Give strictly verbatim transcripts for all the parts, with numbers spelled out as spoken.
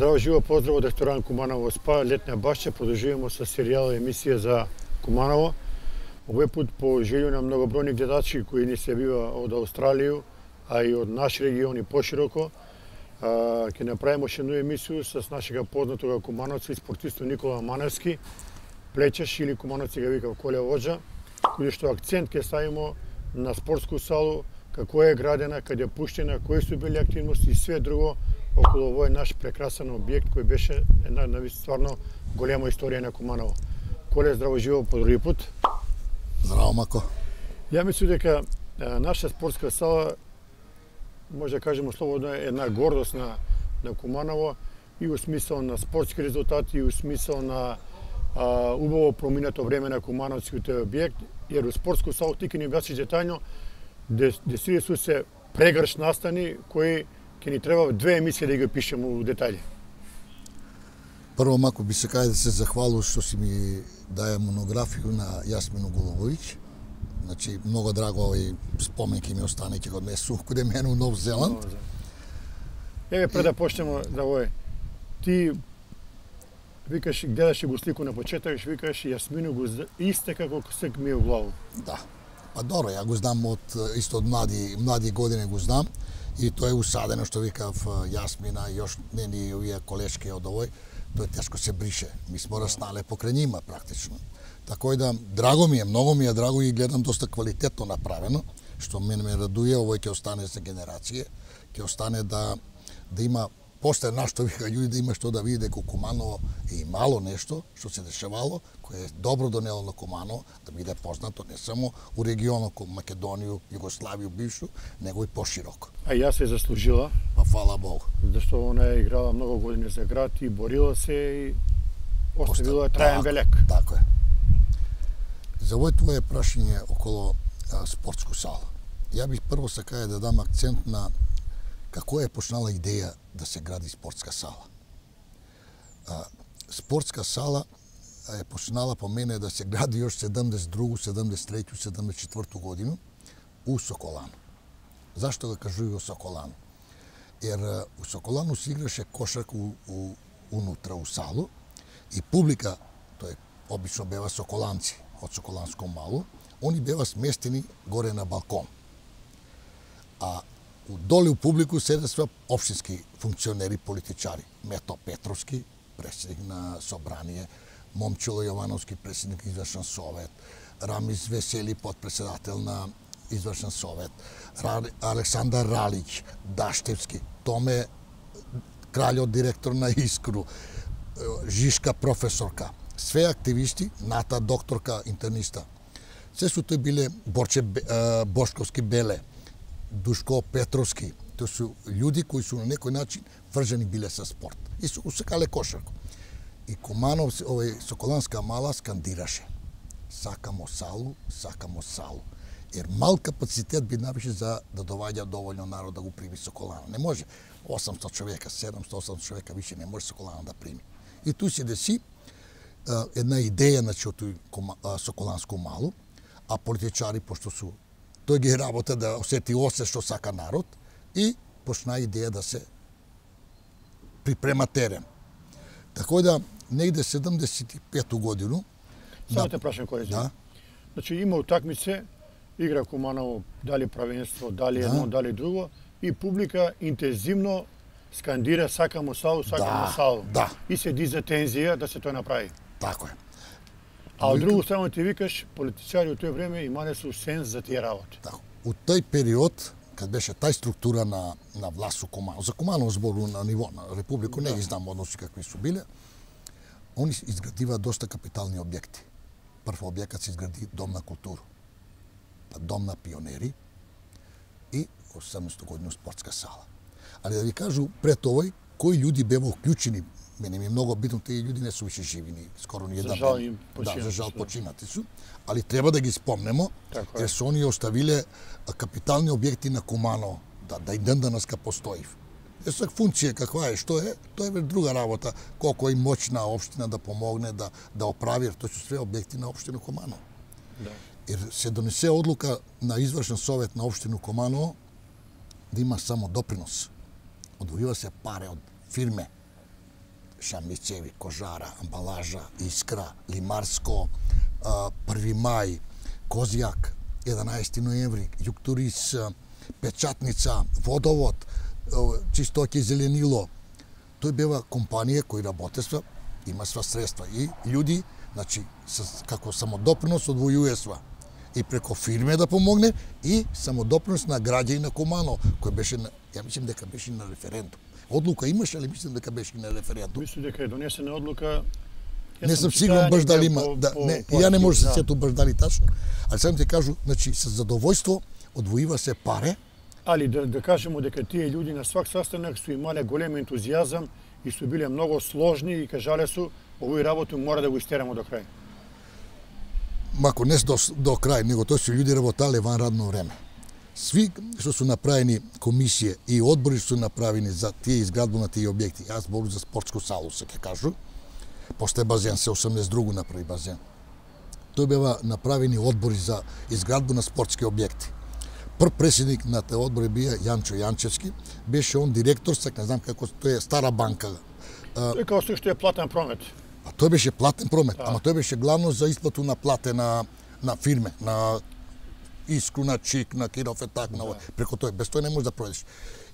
Здраво живо, поздрав од ресторан Куманово СПА, летна башча. Продолжуваме со серијал емисија за Куманово. Овој пат по желју на многобројни гледачи кои ни се бива од Австралија, а и од наш регион и пошироко, ќе направиме уште една емисија с нашега познатога кумановца и спортиста Никола Маневски, плечеш или кумановци ga викав Коле Воџа, кој што акцент ќе ставиме на спортску салу, како е градена, каде е пуштена, кои су били активности и све друго околу овој наш прекрасен објект кој беше една стварно голема историја на Куманово. Коле, здраво живо по други пат. Здраво, Мако. Ја мислам дека наша спортска сала, може да кажеме слободно, е една гордост на, на Куманово и у смисол на спортски резултати, и у смисол на а, убаво проминато време на кумановскиот објект, jer u sportsku salu ti ќе ни објасниш детајно де су се прегрш настани кои ќе ни треба две емисии да ги опишеме у детаљи. Прво, Мако, би се кај да се захвалу што си ми даја монографiju на Јасмину Голововиќ. Значи, многу драго овој спомен ќе ми остане, ќе го однесу каде мене у Нов Зеланд. Еве, пред да почнеме за овој, ти викаш, гледаш го слику на почеток, викаш Јасмину го исте како се ми е у главу. Да. Па добро, ја го знам од исто од млади млади години го знам и тоа е усадено што викав Јасмина и још нени овие колешки од овој, тоа тешко се брише. Ми смо раснале покрај нима практично. Така и да драго ми е, многу ми е драго и гледам доста квалитетно направено, што мене ме радуе, овој ќе остане за генерација, ќе остане да да има после нашто вика луѓе да има што да види дека Куманово е имало нешто што се дешавало, кое е добро донело на Куманово, да биде познато не само у регионот како Македонија, Југославија бившу, него и пошироко. А ја се заслужила. Па фала Богу. Зашто она е играла многу години за град и борила се и оставила траен белек. Така е. За овој твое прашање околу а, спортску сала. Ја бих прво сакаја да дам акцент на како е почнала идеја да се гради спортска сала. А, спортска сала е почнала по мене да се гради још седумдесет и друга, седумдесет и трета, седумдесет и четврта година у Соколано. Зашто го кажувам Соколано? Ер у Соколано се играше кошарка у, у, унутра у салу и публика, тој обично бева соколанци од Соколанско мало, они бева сместени горе на балкон. А доле у публику седе све општински функционери, политичари. Мето Петровски, председник на собрание, Момчило Јовановски, председник извршен совет, Рамис Весели, подпредседател на извршен совет, Александар Ралиќ, Даштевски, Томе Краљот, директор на Искру, Жишка професорка, све активисти, Ната докторка интерниста. Се су тој биле Борче Бошковски Беле, Душко Петровски, тоа су луѓе кои су на некој начин вржени биле со спорт. И су усекале кошарко. И Куманов, овој Соколанска мала скандираше: сакамо салу, сакамо салу. Ер мал капацитет би навише за да доваѓа доволно народ да го прими Соколано. Не може осамстотини човека, седумстотини, осамстотини човека више не може Соколано да прими. И ту се деси една идеја на тој Соколанско мало, а политичари, пошто су тој ги работа да осети осе што сака народ и почна идеја да се припрема терен. Така да негде седумдесет и пета година. Само те прашам кој е. Да. Значи има утакмице, игра Куманово, дали правенство, дали едно, да, дали друго и публика интензивно скандира сакамо салу, сакамо да, салу. Да. И се диза тензија да се тоа направи. Така е. А од друга страна ти викаш, политичари од тој време имале су сенс за тие работи. Така. У тој период, кад беше тај структура на, на власт у Куманово, за Куманово збору на ниво на Републику, да, не ги знам односи какви су биле, они изградива доста капитални објекти. Прв објектот се изгради Дом на култура, па Дом на пионери и осемнаесета година спортска сала. Али да ви кажу, пред овој, кои луѓе беа вклучени. Мене ми е многу битно, тие луѓе не су више живи, ни скоро ни една. За жал им починати. Да, за жал починати су, али треба да ги спомнемо, jer su oni ostavile kapitalni objekti na Kumanovo, da, da i dan danas ka postoji. E sad, funkcija kakva je, što je, to je već druga rabota, koliko je moćna opština da pomogne, da, da opravi, jer to su sve objekti na opštinu Kumanovo. Da. Jer se donese odluka na izvršen sovet na opštinu Kumanovo da ima samo doprinos. Odvojiva se pare od firme Шамбицеви, Кожара, Амбалажа, Искра, Лимарско, први мај, Козјак, еданаесети ноември, Јуктурис, Печатница, Водовод, Чистоке Зеленило. Тој бева компанија кои работества, има сва средства и луѓи, значи како самодопринос одвојуе сва. И преко фирме да помогне и самодопринос на граѓани на Куманово, кој беше на, ја мислам дека беше на референдум. Одлука имаше, али мислам дека беше на референдум. Мислам дека е донесена одлука. Не сум сигурен баш дали има, да, не, ја не може да се сетам баш дали тачно, али сам ти кажу, значи со задовојство одвоива се паре. Али да, да кажемо дека тие луѓе на свак saстанок су имале голем ентузијазам и су биле многу сложни и кажале су овој работу мора да го истерамо до крај. Мако не до, до крај, него тоа се луѓе работале ван радно време. Сви што су направени комисија и одбори што су направени за тие изградба на тие објекти, јас зборувам за спортску салу, се ќе кажу, после базен, се осамдесет и друго направи базен. Тој бева направени одбори за изградба на спортски објекти. Прв председник на тој одбор бија Јанчо Јанчевски, беше он директор, сак не знам како, тој е стара банка. Тој као што е платен промет. А тој беше платен промет, да. Ама тој беше главно за исплату на плате на, на фирме, на Искру, на Чик, на Киров е так, да. Преко тој, без тој не можеш да пројдеш.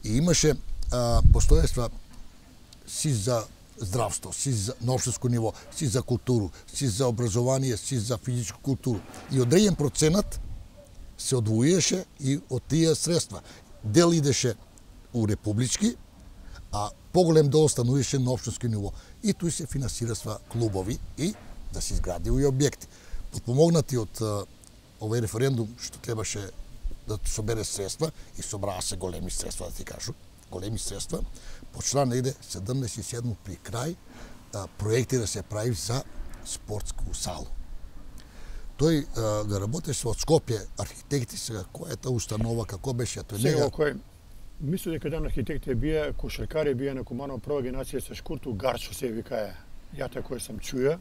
И имаше а, постојства си за здравство, си за на општинско ниво, си за културу, си за образование, си за физичку културу. И одреден проценат се одвојеше и од тие средства. Дел идеше у републички, а поголем дел остануваше на општинско ниво. И тој се финансирасва клубови и да се изгради и објекти. Подпомогнати од овој референдум што требаше да собере средства и собраа се големи средства, да ти кажу, големи средства, почна негде седумдесет и седум при крај а, проекти да се прави за спортску салу. Тој а, да работеше од Скопје, архитекти сега, која е таа установа, како беше, тој сега, нега... кој, мислам дека дан архитекти бија, кошаркари бија на Куманово, прва генерација со Шкурту, Гарчо се викае. Ја тако сам чуја.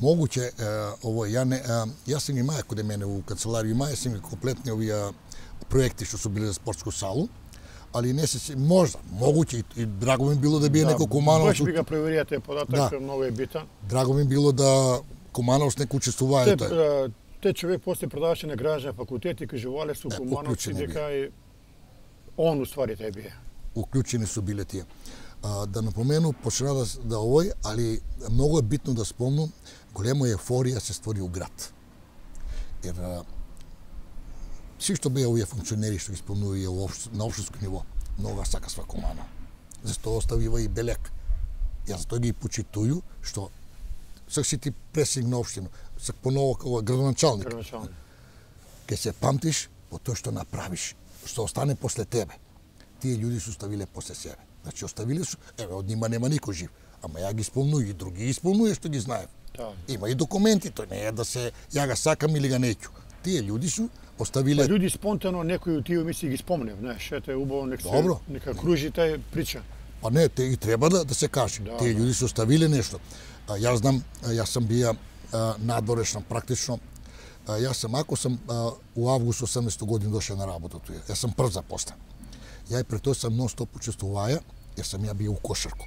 Могуќе, ово, ја не, а, јас сум ги маја коде мене у канцеларија, маја сум ги комплетни овие проекти што су били за спортску салу, али не се можда, могуќе и, и драго ми било да биде да, некој Куманово. Баш би га проверија тој податок, да. Многу е битан. Драго ми било да Куманово некој учествувае тој. Те, те човек после продаваше на граждан факултет и кажувале су Кумановци дека и он уствари тој бие. Уклучени су биле тие. А, да напомену, почна да, да овој, али многу е битно да спомнам, голема ефорија се створи у град. Ер си што беа овие функционери што исполнуваа на општинско ниво, многу сакасва Куманово. Зашто оставива и белек. Јас затоа ги почитую што сак си ти пресник на општина, сак поново како градоначалник. Градоначалник. Ке се памтиш по тоа што направиш, што остане после тебе. Тие луѓе се оставиле после себе. Значи оставиле су, еве од нима нема никој жив, ама ја ги исполнувам и други ги исполнувам што ги знаев. Да. Има и документи, тој не е да се ја ga сакам или ga неќу. Тие луѓе су оставиле. Па луѓе спонтано некои од тие мисли ги спомнев, знаеш, ете убаво нека се нека кружи тај прича. Па не, те и треба да да се каже. Да, тие луѓе се оставиле нешто. А, јас знам, јас сам бија надворешен практично. А, јас сам ако сам а, у август осамдесета година дошел на работа туја. Јас сам прв запослен. Ја и пред тоа сам нон-стоп учествуваја, јас сам ја бил у кошарку.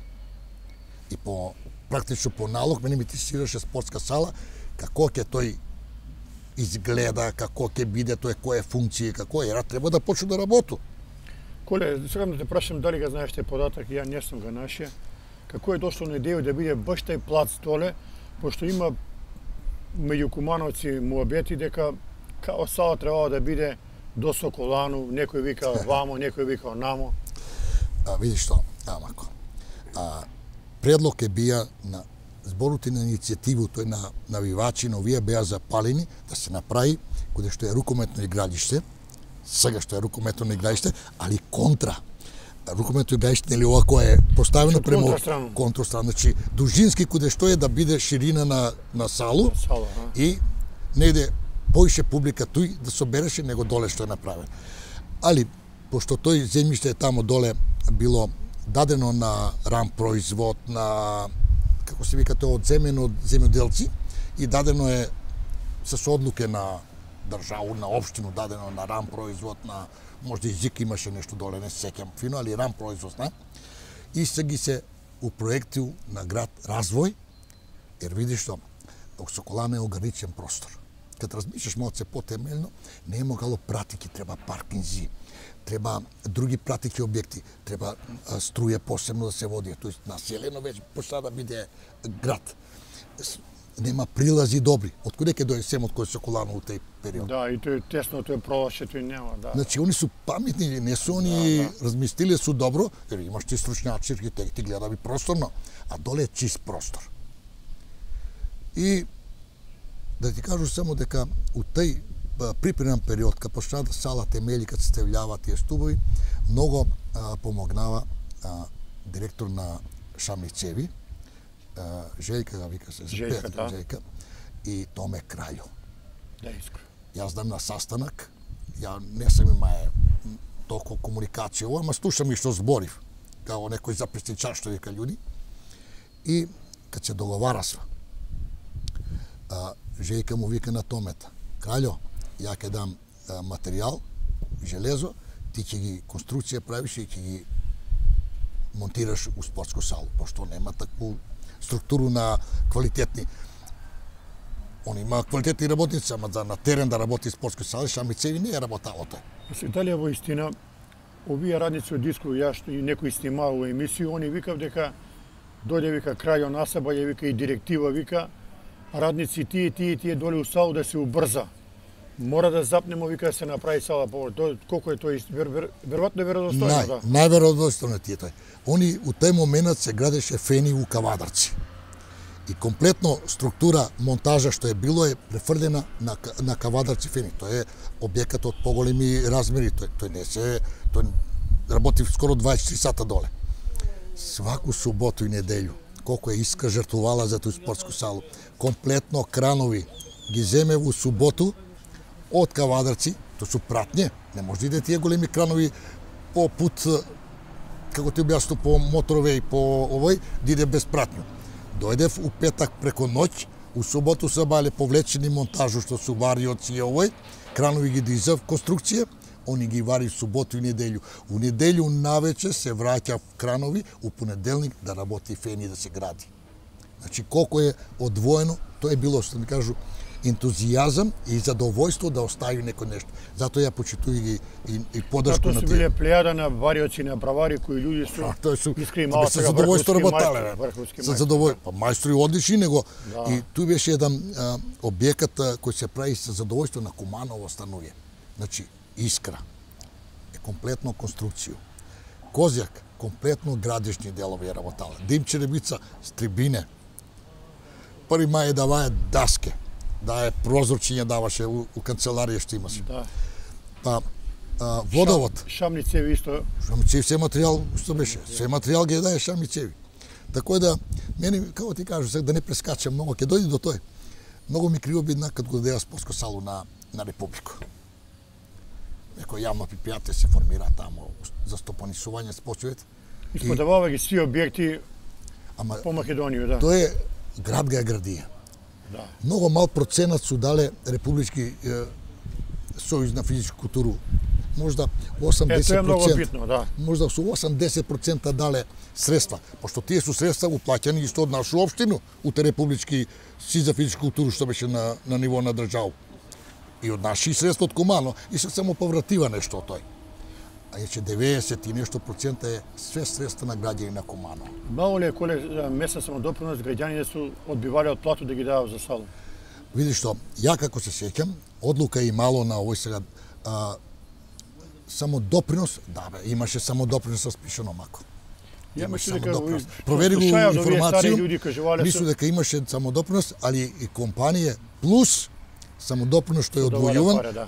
И по практично по налог мене ми тестираше спортска сала, како ќе тој изгледа, како ќе биде тој, која функција, како е, треба да почне да работи. Коле, сега да те прашам дали ga знаеш тој податок, ја не сум го нашио. Како е дошло на идеја да биде баш тај плац доле, пошто има меѓу Кумановци муабети дека као сала требало да биде до Соколану, некој вика вамо, некој вика онамо. А видиш што, амако. А предлог е бија на зборот на иницијативу, тој на навивачи, но овие беа запалени да се направи каде што е рукометно игралиште, сега што е рукометно игралиште, али контра. Рукометно игралиште нели ова кое е поставено према контрастрана, значи дужински каде што е да биде ширина на на салу Сала, и негде поише публика тој да собереше него доле што е направено. Али пошто тој земјиште е тамо доле било дадено на рам производ, на како се вика тоа, одземено од земјоделци и дадено е со одлуке на државу, на општину, дадено на рам производ, на можда и ЗИК имаше нешто доле, не се сеќам фино, али рам производ, на. И се ги се у проекти на град развој, jer видиш што Соколано е ограничен простор. Кад размислиш малце потемелно, не е могало пратики, треба паркинзи, треба други пратики објекти, треба струја посебно да се води, тоест населено веќе почна да биде град. Нема прилази добри. Од каде ќе дојде семот кој Соколано у тој период? Да, и тој тесно, тој пролаше, тој нема, да. Значи, они су паметни, не су они да, да. размислиле су добро, jer имаш ти стручњаци, архитекти, гледави просторно, а доле е чист простор. И да ти кажу само дека у тој припремен период, кога почна да сала темели, кога се стављава тие стубови, многу а, помогнава а, директор на Шамни цеви, а, Желјка га вика се, Желјка, да. Желјка, и Томе Краљо. Да, искрено. Јас знам на састанак, ја не сам имаe толку комуникација, ова, ама слушам и што зборив, као некој записничар што вика људи, и кад се договарасва, а, Желјка му вика на Томета, Краљо, ја ќе дам а, материјал, железо, ти ќе ги конструкција правиш и ќе ги монтираш у спортско салу, пошто нема такву структуру на квалитетни. Он има квалитетни работници, ама за на терен да работи спортско сала, Шамни цеви не е работало тој. Се дали во истина, овие радници од Диско, јас и некој снимал во емисија, они викав дека дојде вика Краљо насаба, ја вика и директива вика, радници тие, тие, тие доле у салу да се убрза. Мора да запнемо, вика, да се направи сала повор. Тоа колку е тоа вер, вер, веројатно е веродостојно, Нај, да. Најверодостојно ти е тој. Они у тој момент се градеше фени у Кавадарци. И комплетно структура монтажа што е било е префрлена на на Кавадарци фени. Тоа е објекат од поголеми размери, тој тој не се тој работи скоро дваесет и четири сата доле. Сваку суботу и неделју колку е Искра жртвувала за тој спортску салу. Комплетно кранови ги земе во суботу од Кавадарци, тоа су пратње, не може да иде тие големи кранови по пут, како ти објаснувам, по моторове и по овој, да иде без пратњу. Дојдев у петак преко ноќ, у суботу се бале повлечени монтажу што су вариоци и овој, кранови ги дизав конструкција, они ги вари суботу и неделју. У неделју навече се враќа кранови, у понеделник да работи фени да се гради. Значи колку е одвоено, тоа е било што ми кажу ентузијазам и задовојство да остави некој нешто. Затоа ја почитувам ги и, и поддршку на тие. Тоа се биле плејада на вариоци, на бравари кои луѓе су тоа су искрени мало сега задовојство работале. Врховски За задовој, па мајстори одлични него. Да. И туј беше еден а, објекат а, кој се прави со задовојство на Куманово станување. Значи Искра е комплетно конструкција. Козјак комплетно градежни делови е работала. Димчеребица стрибине. Први мај даваја даске. Да е прозорчиња даваше у, у канцеларија што имаше. Да. Па а, водовод. Шамни цеви исто. Шамни цеви се материјал што беше. Се материјал ги дае Шамни цеви. Така да мене како ти кажу сега да не прескачам многу, ќе дојде до тој. Многу ми криво бидна кад го дадеа спортско салу на на Република. Некој јавно предпријатие се формира таму за стопанисување спортовите. Исподавава ги сви објекти Ама по Македонија, да. Тоа е град га е градија. Да. Многу мал проценат су дале Републички е, сојуз на физичку културу. Можда осемдесет проценти. Е, тоа е многу битно, да. Можда су осемдесет проценти дале средства, пошто тие су средства уплаќани исто од нашу општину, од Републички си за физичку културу што беше на на ниво на држава. И од наши средства од Кумано и се само повратива нешто од тој. А е че деветдесет и нешто процента е све средства на граѓани на Кумано. Мало ли е коле месец самодопринос граѓаните су одбивале од плату да ги дават за салу? Види што, ја како се сеќам, одлука и мало на овој сега а, само допринос, да бе, имаше само допринос распишано мако. Ја Имаше мислам дека самодопринос. Провери го информација, мислам дека имаше самодопринос, али и компанија плюс самодопринос што е одвојуван. Да.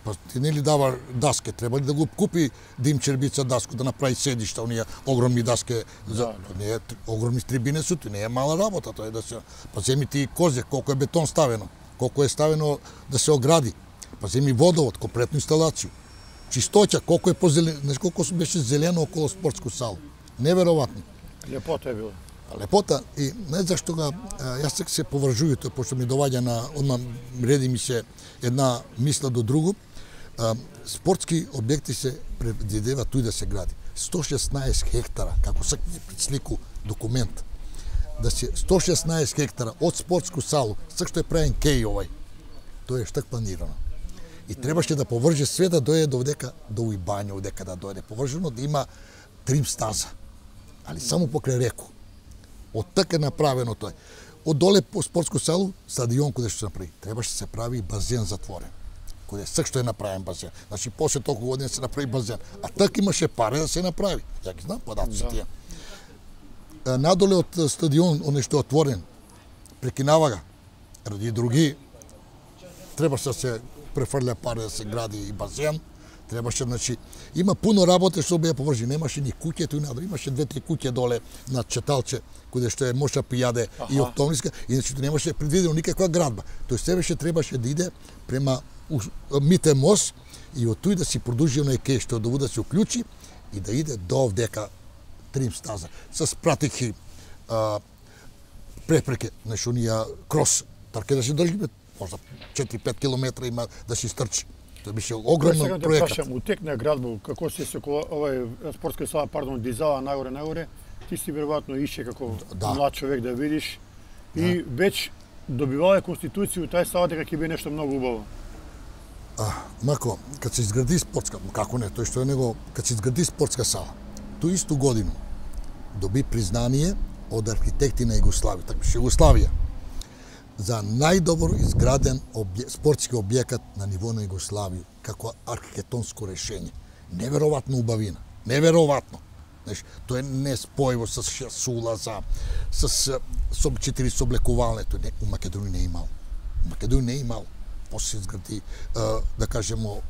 Па ти нели дава даске, треба ли да го купи Димчербица даску да направи седишта, оние огромни даске, за да, да. Не е огромни трибине су, не е мала работа, тоа е да се па земи ти Козјак, колку е бетон ставено, колку е ставено да се огради. Па земи водовод, комплетну инсталација. Чистоќа, колку е позелено, знаеш колку беше зелено околу спортско сало. Неверојатно. Лепота е било. Лепота и не зашто ga јас сега се повржувам тоа пошто ми доваѓа на одма реди ми се една мисла до другу. А, спортски објекти се предвидува туј да се гради. сто шеснаесет хектара, како сак ми пред слику документ, да се сто шеснаесет хектара од спортску салу, сак што е правен кеј овај, тоа е штак планирано. И требаше да поврже све да дојде до дека до Уибања, одека да дојде повржено, да има трим стаза, али само покрај реку. Од така е направено тоа. Од доле по спортско салу, стадион каде што се направи, требаше да се прави базен затворен. Каде сак што е направен базен. Значи, после толку години се направи базен. А така имаше пари да се направи. Ја ги знам податци Да. тие. Надоле од стадион, оне што е отворен, прекинава га, ради други, требаше да се префрля пари да се гради и базен, требаше, значи, има пуно работа што беа повржи, немаше ни куќе туј надоле, имаше две-три куќе доле на Четалче, каде што е Моша Пијаде и Октомниска, иначе тоа немаше предвидено никаква градба. Тој себе ше требаше да иде према Мите мост и од тој да си продолжи оној кеј што да да се уклучи и да иде до овдека трим стаза со пратихи а, препреке, значи онија крос, така да се држи можда четири-пет километра има да се стрчи. Тоа беше огромен проект. Сега у тек на градба, како се се овај спортска сала, пардон, дизала нагоре нагоре, ти си веројатно ише како да. млад човек да видиш и да. Веќе добивале конституција тај сала дека ќе биде нешто многу убаво. А, Мако, кад се изгради спортска, како не, тој што е него, кад се изгради спортска сала, тој исту годину доби признание од архитекти на Југославија, така беше Југославија, за најдобро изграден обје, спортски објекат на ниво на Југославија, како архитектонско решение. Неверојатно убавина, неверојатно. Знаеш, тоа е неспојиво со шест улаза, с со четири соблекувални, тоа не, у Македонија не е имало. У Македонија не е имало. После се изгради, да кажемо,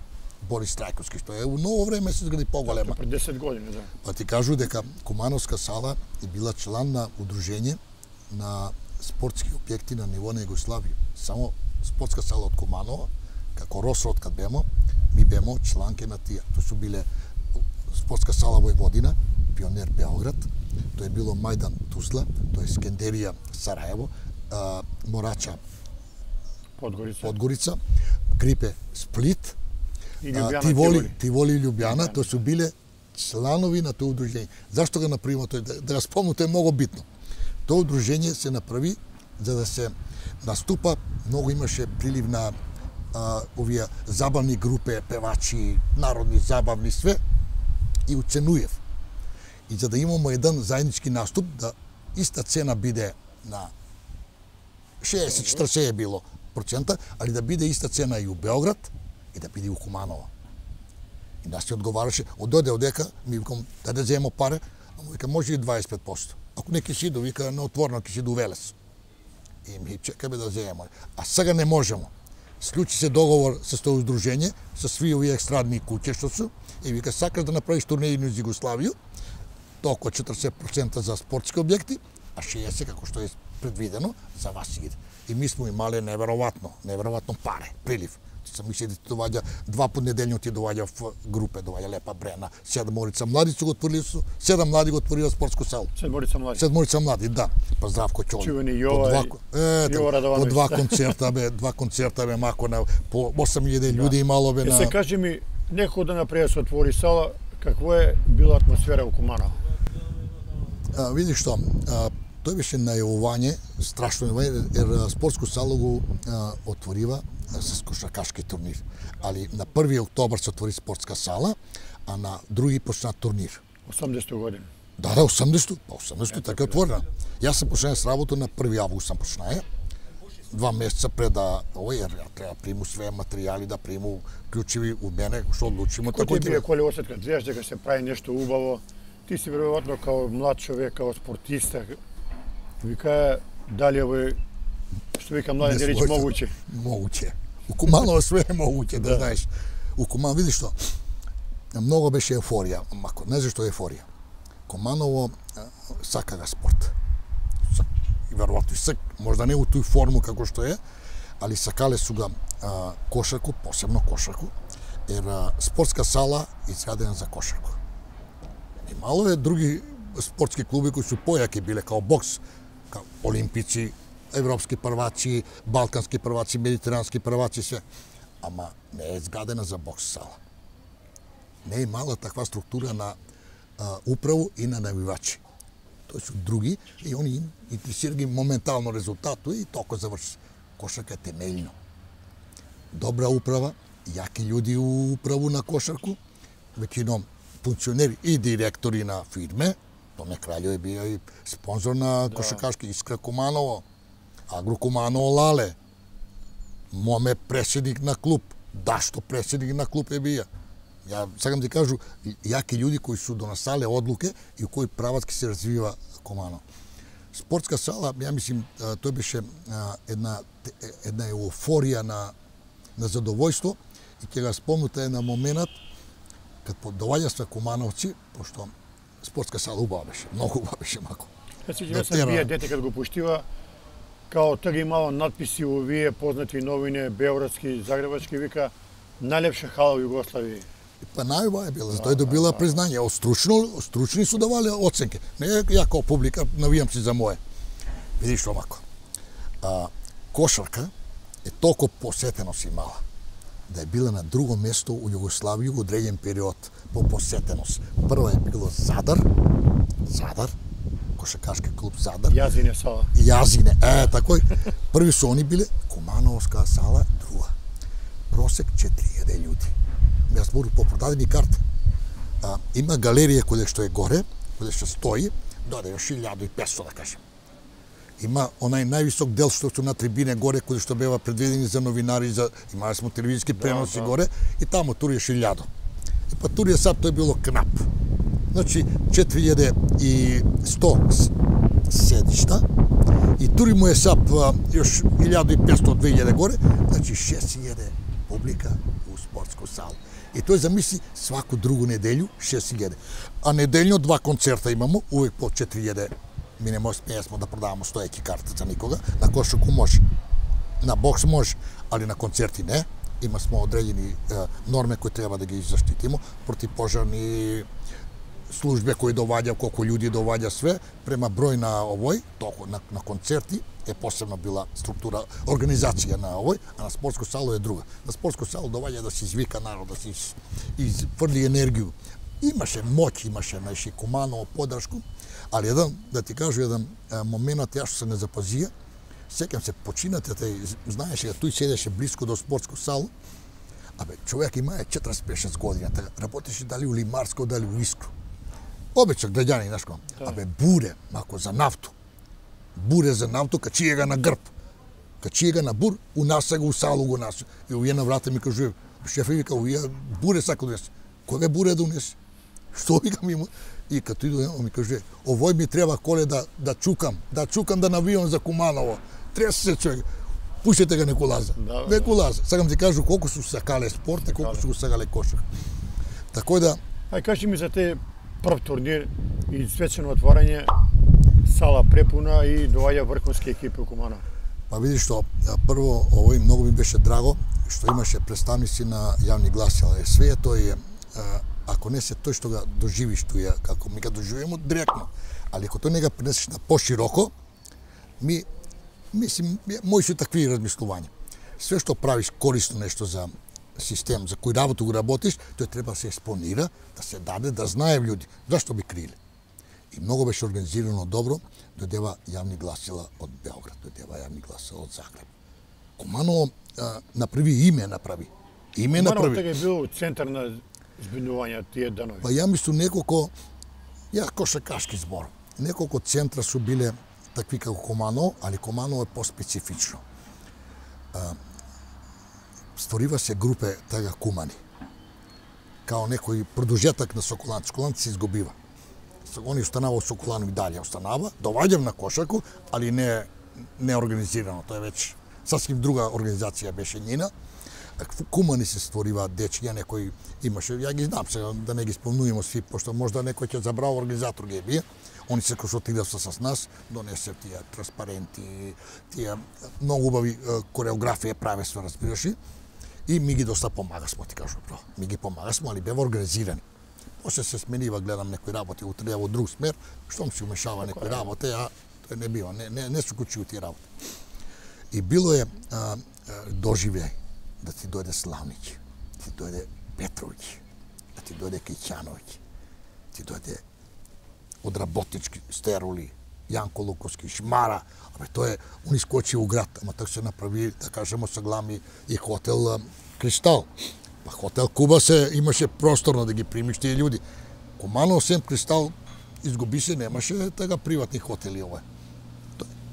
Борис Трајковски, што е у ново време се изгради поголема. Пред десет години, да. Па ти кажу дека Кумановска сала е била член на удружење на спортски објекти на ниво на Југославија. Само спортска сала од Куманова, како Росрод кад бемо, ми бемо чланки на тие. Тоа су биле спортска сала Војводина, Пионер Београд, тоа е било Мајдан Тузла, тоа е Скендерија Сараево, Морача Подгорица. Подгорица, Крипе Сплит, И Љубјана, Тиволи, Тиволи и Љубјана, тоа су биле чланови на тоа удружење. Зашто го направиме тој? Да, да го спомнам, тоа е многу битно. Тоа удружење се направи за да се наступа, многу имаше прилив на а, овие забавни групе, певачи, народни забавни све и уценуев. И за да имамо еден заеднички наступ, да иста цена биде на шеесет четиресет е било процента, али да биде иста цена и у Београд и да биде у Куманово. И нас се одговараше, ододе одека, ми викам, да да земо пари, а му вика, може и дваесет и пет проценти. Ако не кишиду, вика, на отворено кишиду Велес. И ми чекаме да земемо. А сега не можемо. Склучи се договор со тоа удружење, со сви овие екстрадни куќи што су, и вика, сакаш да направиш турнеи низ Југославија, толку четиресет проценти за спортски објекти, а шеесет како што е предвидено за вас иде. И ми смо имале неверојатно, неверојатно паре, прилив. Се мисли да ти доаѓа два пат неделно ти доаѓа в групе, доаѓа Лепа Брена, Седморица млади го отворили, седам млади го отворила спортско село. Седморица млади. Седморица млади, да. Па Здравко Чоли. Чувени Јова два, и Јова Радовановиќ. По два концерта бе, два концерта бе мако на по осам илјади Да. луѓе имало бе Е, на. се кажи ми, некој да напред се отвори сала, каква е била атмосфера у Куманово? А, види што, а, тој беше најавување, страшно најавување, ер спортско сало го а, отворива а, с кошаркашки турнир. Али на први октобар се отвори спортска сала, а на други почна турнир. осумдесета година. Да, да, осумдесета, па осумдесета така е отворена. Јас сам почнаа с работа на први август сам почнаа. Два месеца пред да, овој, ја треба приму све материјали, да приму клучеви у мене, што одлучимо. Кој ти бие коли осетка, знаеш дека се прави нешто убаво, ти си веројатно као млад човек, као спортиста, вика, дали овој, што вика млади да речи, могуче? Могуче. У Куманово све е могуче, да, да знаеш. У Куманово, видиш што, многу беше еуфорија, мако, не знам што е еуфорија. Куманово сака га спорт. И веројатно и сак, можда не у тој форму како што е, али сакале су га а, кошарку, посебно кошарку, ер а, спортска сала изградена за кошарку. И мало е други спортски клуби кои су појаки биле, као бокс, као олимпици, европски прваци, балкански прваци, медитерански прваци, се. Ама не е изградена за бокс сала. Не е имала таква структура на а, управу и на навивачи. Тој су други и они интересира ги моментално резултатот и толку заврши. Кошарка е темелно. Добра управа, јаки луѓе у управу на кошарку, веќином функционери и директори на фирме. Томе Краљо е био и спонзор на кошаркашки Искра Куманово, Агро Куманово Лале, Моме председник на клуб, Дашто председник на клуб е био. Ја сакам да кажу, јаки луѓе кои су донасале одлуке и у кои прават ке се развива Куманово. Спортска сала, ја мислим, тој беше една една еуфорија на на задовојство и ќе го спомнете една момент кога доаѓа кумановци, пошто спортска сала убава беше, многу убава беше мако. Значи, ја сам вие дете кога го пуштива, као таа имало надписи во вие познати новини, београдски, загребачки, вика најлепша хала во Југославија. Па најубава е била, тој добила признање, од стручно, стручни су давале оценки. Не ја као публика навијам си за мое. Видиш што мако. А, кошарка е толку посетеност имала да е била на друго место у Југославија во одреден период по посетеност. Прво е било Задар, Задар, кошаркашки клуб Задар. Јазине сала. Јазине, е, такој. Први су они биле, Кумановска сала друга. Просек четири илјади луѓе. Јас збору по продадени карти. А, има галерија која што е горе, која што стои, дојде још илјада и петстотини да кажем. Има онај највисок дел што су на трибине горе, кој што бева предвидени за новинари, за имале смо телевизиски преноси да, да. Горе, и таму туриеш илјада. И па турија сад тој било кнап. Значи четири илјади и сто седишта, и тури му е сап још илјада и петстотини две илјади горе, значи шест илјади публика у спортско сало. И тој замисли сваку другу неделју шест илјади. А неделјно два концерта имамо, увек по четири илјади. Ми не може да продаваме стоеки карта за никога, на кошарку може. На бокс може, али на концерти не. Има смо одредени е, норме кои треба да ги заштитимо, противпожарни службе кои доваѓа, колку луѓе доваѓа све, према број на овој, толку на, на концерти е посебно била структура, организација на овој, а на спортско сало е друга. На спортско сало доваѓа да се извика народ, да се из, изфрли енергiju. Имаше моќ, имаше најши Куманово подршку, али еден, да ти кажу, еден момент ја што се не запазија, сеќам се починате, тај, знаеше, тој седеше близко до спортско сало, абе, човек имае четириесет и шест години, работеше дали у Лимарско, дали у Искру. Обичак граѓани, знаеш кој? Абе, буре, мако за нафту. Буре за нафту, качие га на грб. Качие га на бур, у нас го у сало го нас. И овие на врата ми кажува, шеф вика, овие буре сака да донесе. Кога буре да донесе? Што викам има? И като иду, ми каже, овој ми треба коле да, да чукам, да чукам да навијам за Куманово. Тресе се човек. Пуштете га Некулаза. Да, Некулаза. Сакам ти кажу колку су сакале спорт и колку су сакале кошар. Тако да... Ај кажи ми за те прв турнир и свечено отворање, сала препуна и доаѓа врховски екипи у Куманово. Па видиш што, прво, овој многу ми беше драго, што имаше представници на јавни гласила. Све тој е, ако не се тој што го доживиш туја, како ми го доживиме директно, али ако тој не го пренесеш на пошироко, ми, мислим, мои се такви размислувања. Све што правиш корисно нешто за систем, за кој работа го работиш, тој треба да се експонира, да се даде, да знае луѓе. Зашто би криле? И многу беше организирано добро, дојдева јавни гласила од Белград, дојдева јавни гласила од Загреб. Куманово направи име, направи. Име направи. Куманово тега е бил центар на збинување тие данови. Па ја мислам неколку, ја кошаркашки збор, неколку центра су биле такви како Куманово, али Куманово е по-специфично. Створива се групе тега кумани. Као некој продолжетак на Соколан. Соколан се изгубива. Они останава Соколан и далje останава. Доваѓам на кошарку, али не не организирано. Тоа е веќе сасвим друга организација беше njina. Кумани се створива дечиња, некој имаше, ја ги знам сега да не ги спомнуваме сви, пошто можда некој ќе забрава организатор ги бие. Они се консултираат с нас, донесе тие транспаренти, тие многу убави кореографија праве се, разбираш. И ми ги доста помагасмо, ти кажу, бро. Ми ги помагасмо, али бева организирани. После се сменива, гледам некои работи, утре во друг смер, штом се умешава некои работи, а тоа не бива, не, не, не се кучи тие работи. И било е а, доживеј да ти дојде Славниќ, да ти дојде Петровиќ, да ти дојде Киќановиќ, ти дојде од работнички стерули, Јанко Луковски, Шмара, абе тој е, он искочи у град, ама така се направи, да кажемо, со глами и хотел Кристал. Па хотел Куба се имаше просторно да ги примиш тие луѓе. Куманово осем Кристал изгуби се, немаше така приватни хотели ова.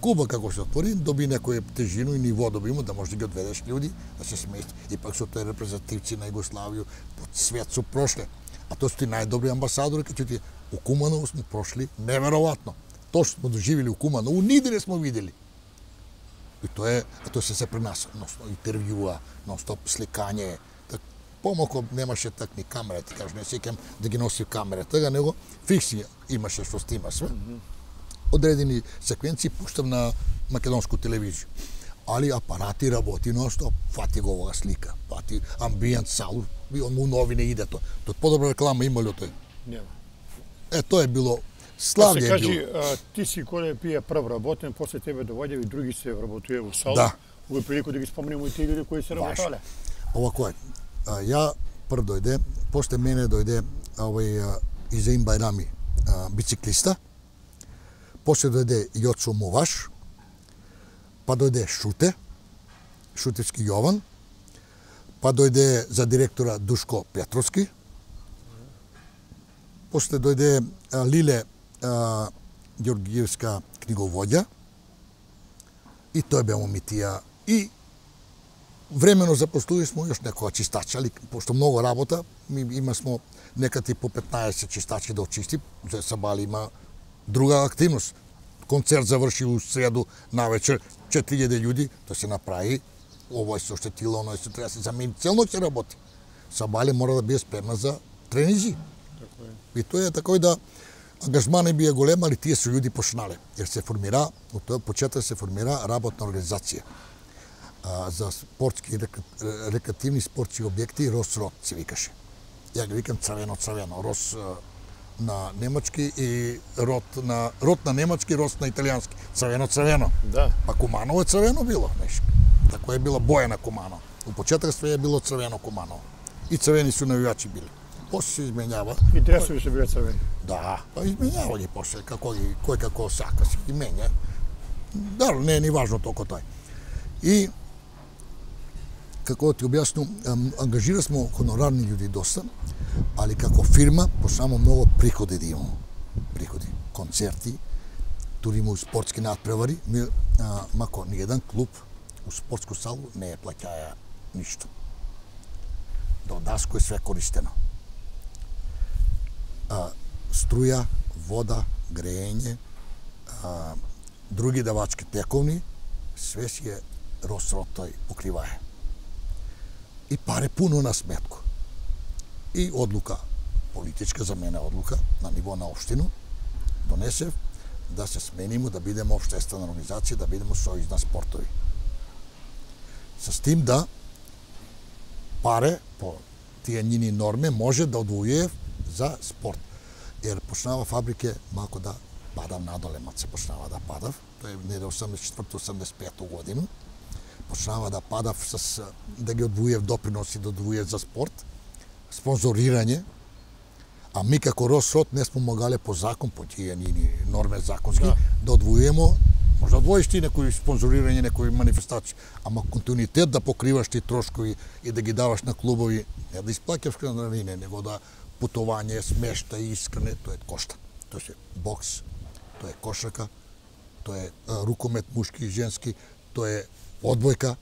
Куба како се отвори, доби некоја тежину и ниво доби му да може да ги одведеш луѓе, да се смести. И пак со тој репрезентативци на Југославија по свет су прошле. А тоа су ти најдобри амбасадори, кај ти у Куманово сме прошли неверојатно. Тоа што сме доживели у Куманово, ниде не сме видели. И тоа е, а тоа се се при нас, носно интервјуа, нон-стоп сликање. Так, помалку немаше так ни камера, ти кажеш, не сеќам да ги носи камера, така него фикси имаше што снима све. Одредени секвенции пуштам на македонску телевизија. Али апарати работи нон-стоп, фати го оваа слика, фати амбиент, салу, он му новине иде тоа. Тоа подобра реклама има ли тој? Нема. Е, тоа е било славје се е кажи, било. а, ти си кој пие прв работен, после тебе доаѓа и други се вработуе во сала. Да. Во прилику да ги спомнеме и тие луѓе кои се работале. Овако е. А, ја прв дојде, после мене дојде овој Изаим Байрами, а, бициклиста. После дојде Јоцо Муваш, па дојде Шуте, Шутевски Јован, па дојде за директора Душко Петровски, после дојде а, Лиле а, Ѓоргиевска книговоѓа, и тој бе момитија. И времено запослуи смо још некоја чистача, али пошто многу работа, ми има смо некати по петнаесет чистачи да очисти, за Сабали има друга активност. Концерт заврши у среду навечер, четири илјади луѓе, тоа се направи, овој се оштетило, оној се треба да се замени, цел ноќ се работи. Сабали мора да биде спремна за тренизи. И тоа е такој да ангажман би е голем, али тие се луѓе почнале. Jer се формира, од тој почеток се формира работна организација а, за спортски, рекреативни спортски објекти, Рос-Рот се викаше. Ја ги викам црвено-црвено, Рос на немачки и рот на рот на немачки, рос на италијански. Црвено-црвено. Да. Па Куманово е црвено било, нешто. Тако е била боја на Куманово. У почеток све е било црвено Куманово. И црвени су навивачи били. После се изменјава. И дресови се биле црвени. Да, па изменјава ги после, како ги, кој како сака се ги менја. Да, не е ни важно толку тој. И како ти објаснам, ангажира смо хонорарни луѓе доста, али како фирма почнamo многу приходи да имamo. Приходи, концерти, тури му спортски надпревари, ми, а, мако ни еден клуб у спортску салу не е плаќаја ништо. До даско е све користено. А, струја, вода, грејење, а, други давачки тековни, све си е Рос-Рот тој покривае. И паре пуно на сметку. И одлука, политичка за мене одлука, на ниво на општину, донесев да се сменимо, да бидеме општествена организација, да бидеме сојуз на спортови. С тим да паре по тие njini норме може да одвојуе за спорт. Ер почнава фабрике малку да падав надоле, мат се почнава да падав, тоа е неде осамдесет и четврто осамдесет и пето година. Почнава да падав с да ги одвојев доприноси, да одвојев за спорт, спонзорирање, а ми како Рос-Рот не сме могале по закон, по тие нини норме законски, да, да одвојемо, може да одвоиш ти некои спонзорирање, некои манифестации, ама континуитет да покриваш ти трошкови и да ги даваш на клубови, не да исплаќаш хранарине, него да путување, смешта и искране, тоа е кошта. Тоа е бокс, тоа е кошарка, тоа е рукомет мушки и женски, тоа е одбојка,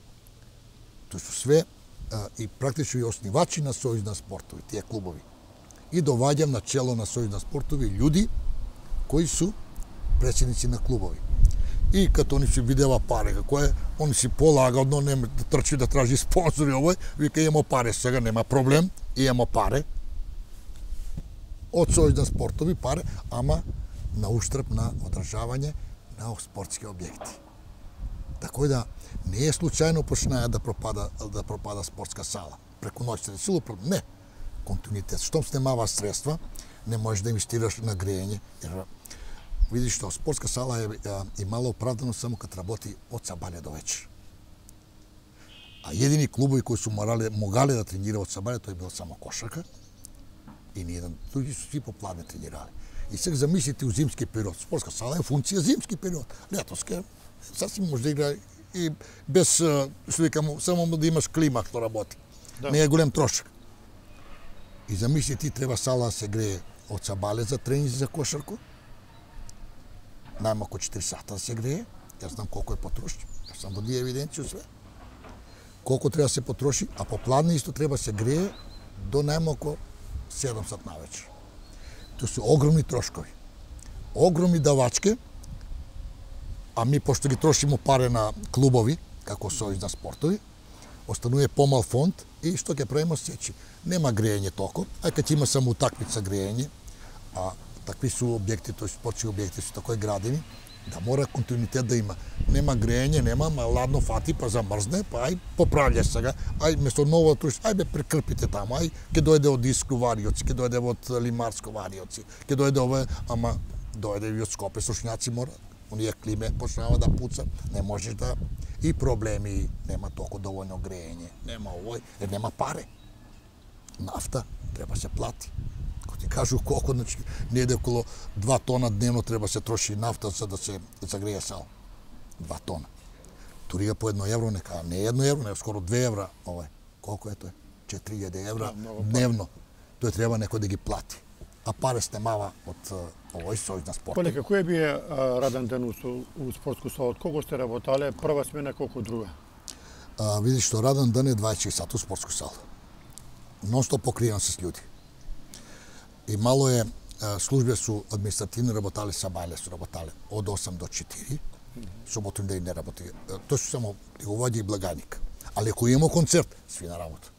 тоа се све а, и практично и основачи на Сојуз на спортови, тие клубови. И доваѓам на чело на Сојуз на спортови луѓи кои су председници на клубови. И като они си видела паре како е, они си полагодно, нема да трчи да тражи спонзори овој, вика имамо паре сега, нема проблем, имамо паре. Од Сојуз на спортови паре, ама на уштрб на одржавање на спортски објекти. Така да не е случајно почнаа да пропада да пропада спортска сала. Преку ноќ се десило, не. Континуитет. Штом снемава средства, не можеш да инвестираш на грејење. Jer, видиш што спортска сала е, е имала оправдано само кад работи од сабаља до вечер. А едини клубови кои су морале, могале да тренираат од сабаља, тоа е била само кошарка И ние други су сви попладне тренирале. И сега замислите у зимски период. Спортска сала е функција зимски период. Летоска сасвим може да игра и без, што викам, само да имаш клима што работи. Да. Не е голем трошок. И замисли ти треба сала да се грее од сабале за тренинзи за кошарку. Најмалку четири сата да се грее. Јас знам колку е потроши. Јас сам води евиденција све. Колку треба да се потроши, а попладне исто треба да се грее до најмалку седум сат навечер. Тоа се огромни трошкови. Огромни давачки, а ми пошто ги трошимо паре на клубови, како сојуз на спортови, останува помал фонд и што ќе правиме сечи. Нема грејење толку, а кога ќе има само утакмица грејење, а такви су објекти, тој спортски објекти су такои градени, да мора континуитет да има. Нема грејење, нема, ма ладно фати, па замрзне, па ај поправљаш сега, ај место ново труш, ај бе прекрпите таму, ај ќе дојде од Иску вариоци, ќе дојде од Лимарско вариоци, ќе дојде ова, ама дојде и од Скопе сушњаци мора. Оние климе почнава да пуца, не можеш да и проблеми, нема толку доволно грејење, нема овој, jer нема паре. Нафта треба се плати. Ко ти кажу колку, значи, неде околу два тона дневно треба се троши нафта за да се загрее сал. два тона. Турига по едно евро, нека не едно евро, не скоро две евра, овој. Колку е тоа? четири илјади евра дневно. Тој треба некој да ги плати. А паре снемава од овој сојуз на спорт. Колека, кој бие раден ден у, у спортску сала? Од колку сте работале? Прва смена, колку друга? А, видиш што раден ден е дваесет и четири сата у спортску сала. Нон-стоп покриен с луѓе. И мало е службе су административни работале, сабајле су работале од осам до четири. Суботу и ден не работи. Тоа су само приговоѓа и благаник. Али ако има концерт, сви на работа.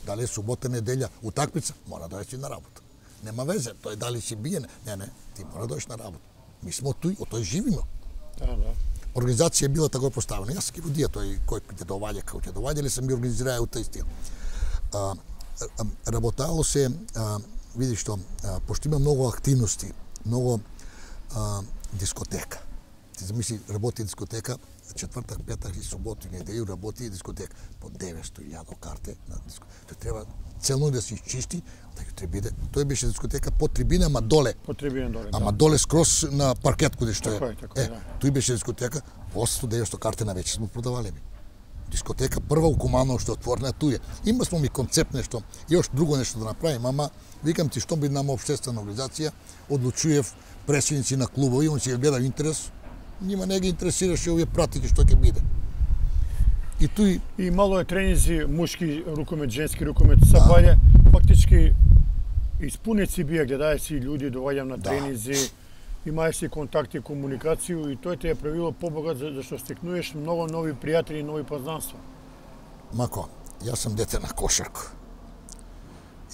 Дали е субота, неделја, утакмица, мора да си на работа. Нема везе, тој дали си биен, не, не, ти мора да дојдеш на работа. Ми смо туј, од тој живиме. Да, да. Организација била тако поставена. Јас ки водија тој кој ќе доваѓа, како ќе доваѓа, или сам ги организираа у тој стил. А, работало се, а, види што, а, пошто има многу активности, многу а, дискотека. Ти замисли, работи дискотека, четвртак, петак и суботу и неделју работи дискотека. По деветсто илјади карте на дискотека. Тој треба целно да се изчисти, да ќе треба биде. Тој беше дискотека по трибина, ама доле. По трибина доле, да. Ама доле скрос на паркет каде што е. Така е, така е, е, да. Тој беше дискотека, осемстотини до деветстотини карти на вече сме продавале би. Дискотека прва у Куманово што отворена туја. Има смо ми концепт нешто и още друго нешто да направим, ама викам ти што би нама општествена организација, одлучуев председници на клубови, он си ја гледа интерес, нима не ги интересираше овие пратики што ќе биде. И туј и мало е тренинзи мушки рукомет, женски рукомет, сабајле, фактички испунеци бија, гледаја си луѓе, доваѓам на тренинзи, имај си контакти, комуникацију и тој те е правило побогат зашто стекнуеш многу нови пријатели и нови познанства. Мако, јас сум дете на кошарка.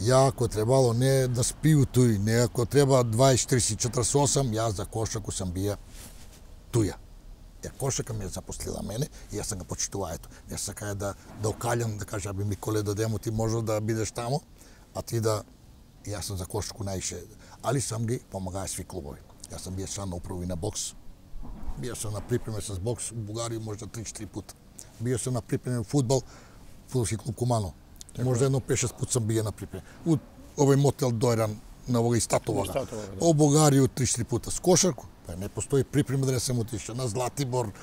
Ја ако требало не да спију туј, не ако треба дваесет, тридесет, четиридесет и осам, јас за кошарку сам бија туја. Ја кошарка ме запослила мене и јас сам го почитуваа ето. Јас сакаја да да окалјам, да кажа би Миколе додемо ти може да бидеш таму, а ти да јас сум за кошарку најше, али сам ги помагаја сви клубови. Јас сам бија член на управи на бокс. Бија сам на припреме с бокс у Бугарија можда три-четири пута. Бија сам на припреме фудбал, фудбалски клуб Куманово. Можда едно пет-шест пут сам бија на припреме. У овој мотел Дојран на овој Статовага. Да. О Бугарија три-четири пута с кошарку. Па не постои припреме да не сам отишao на Златибор,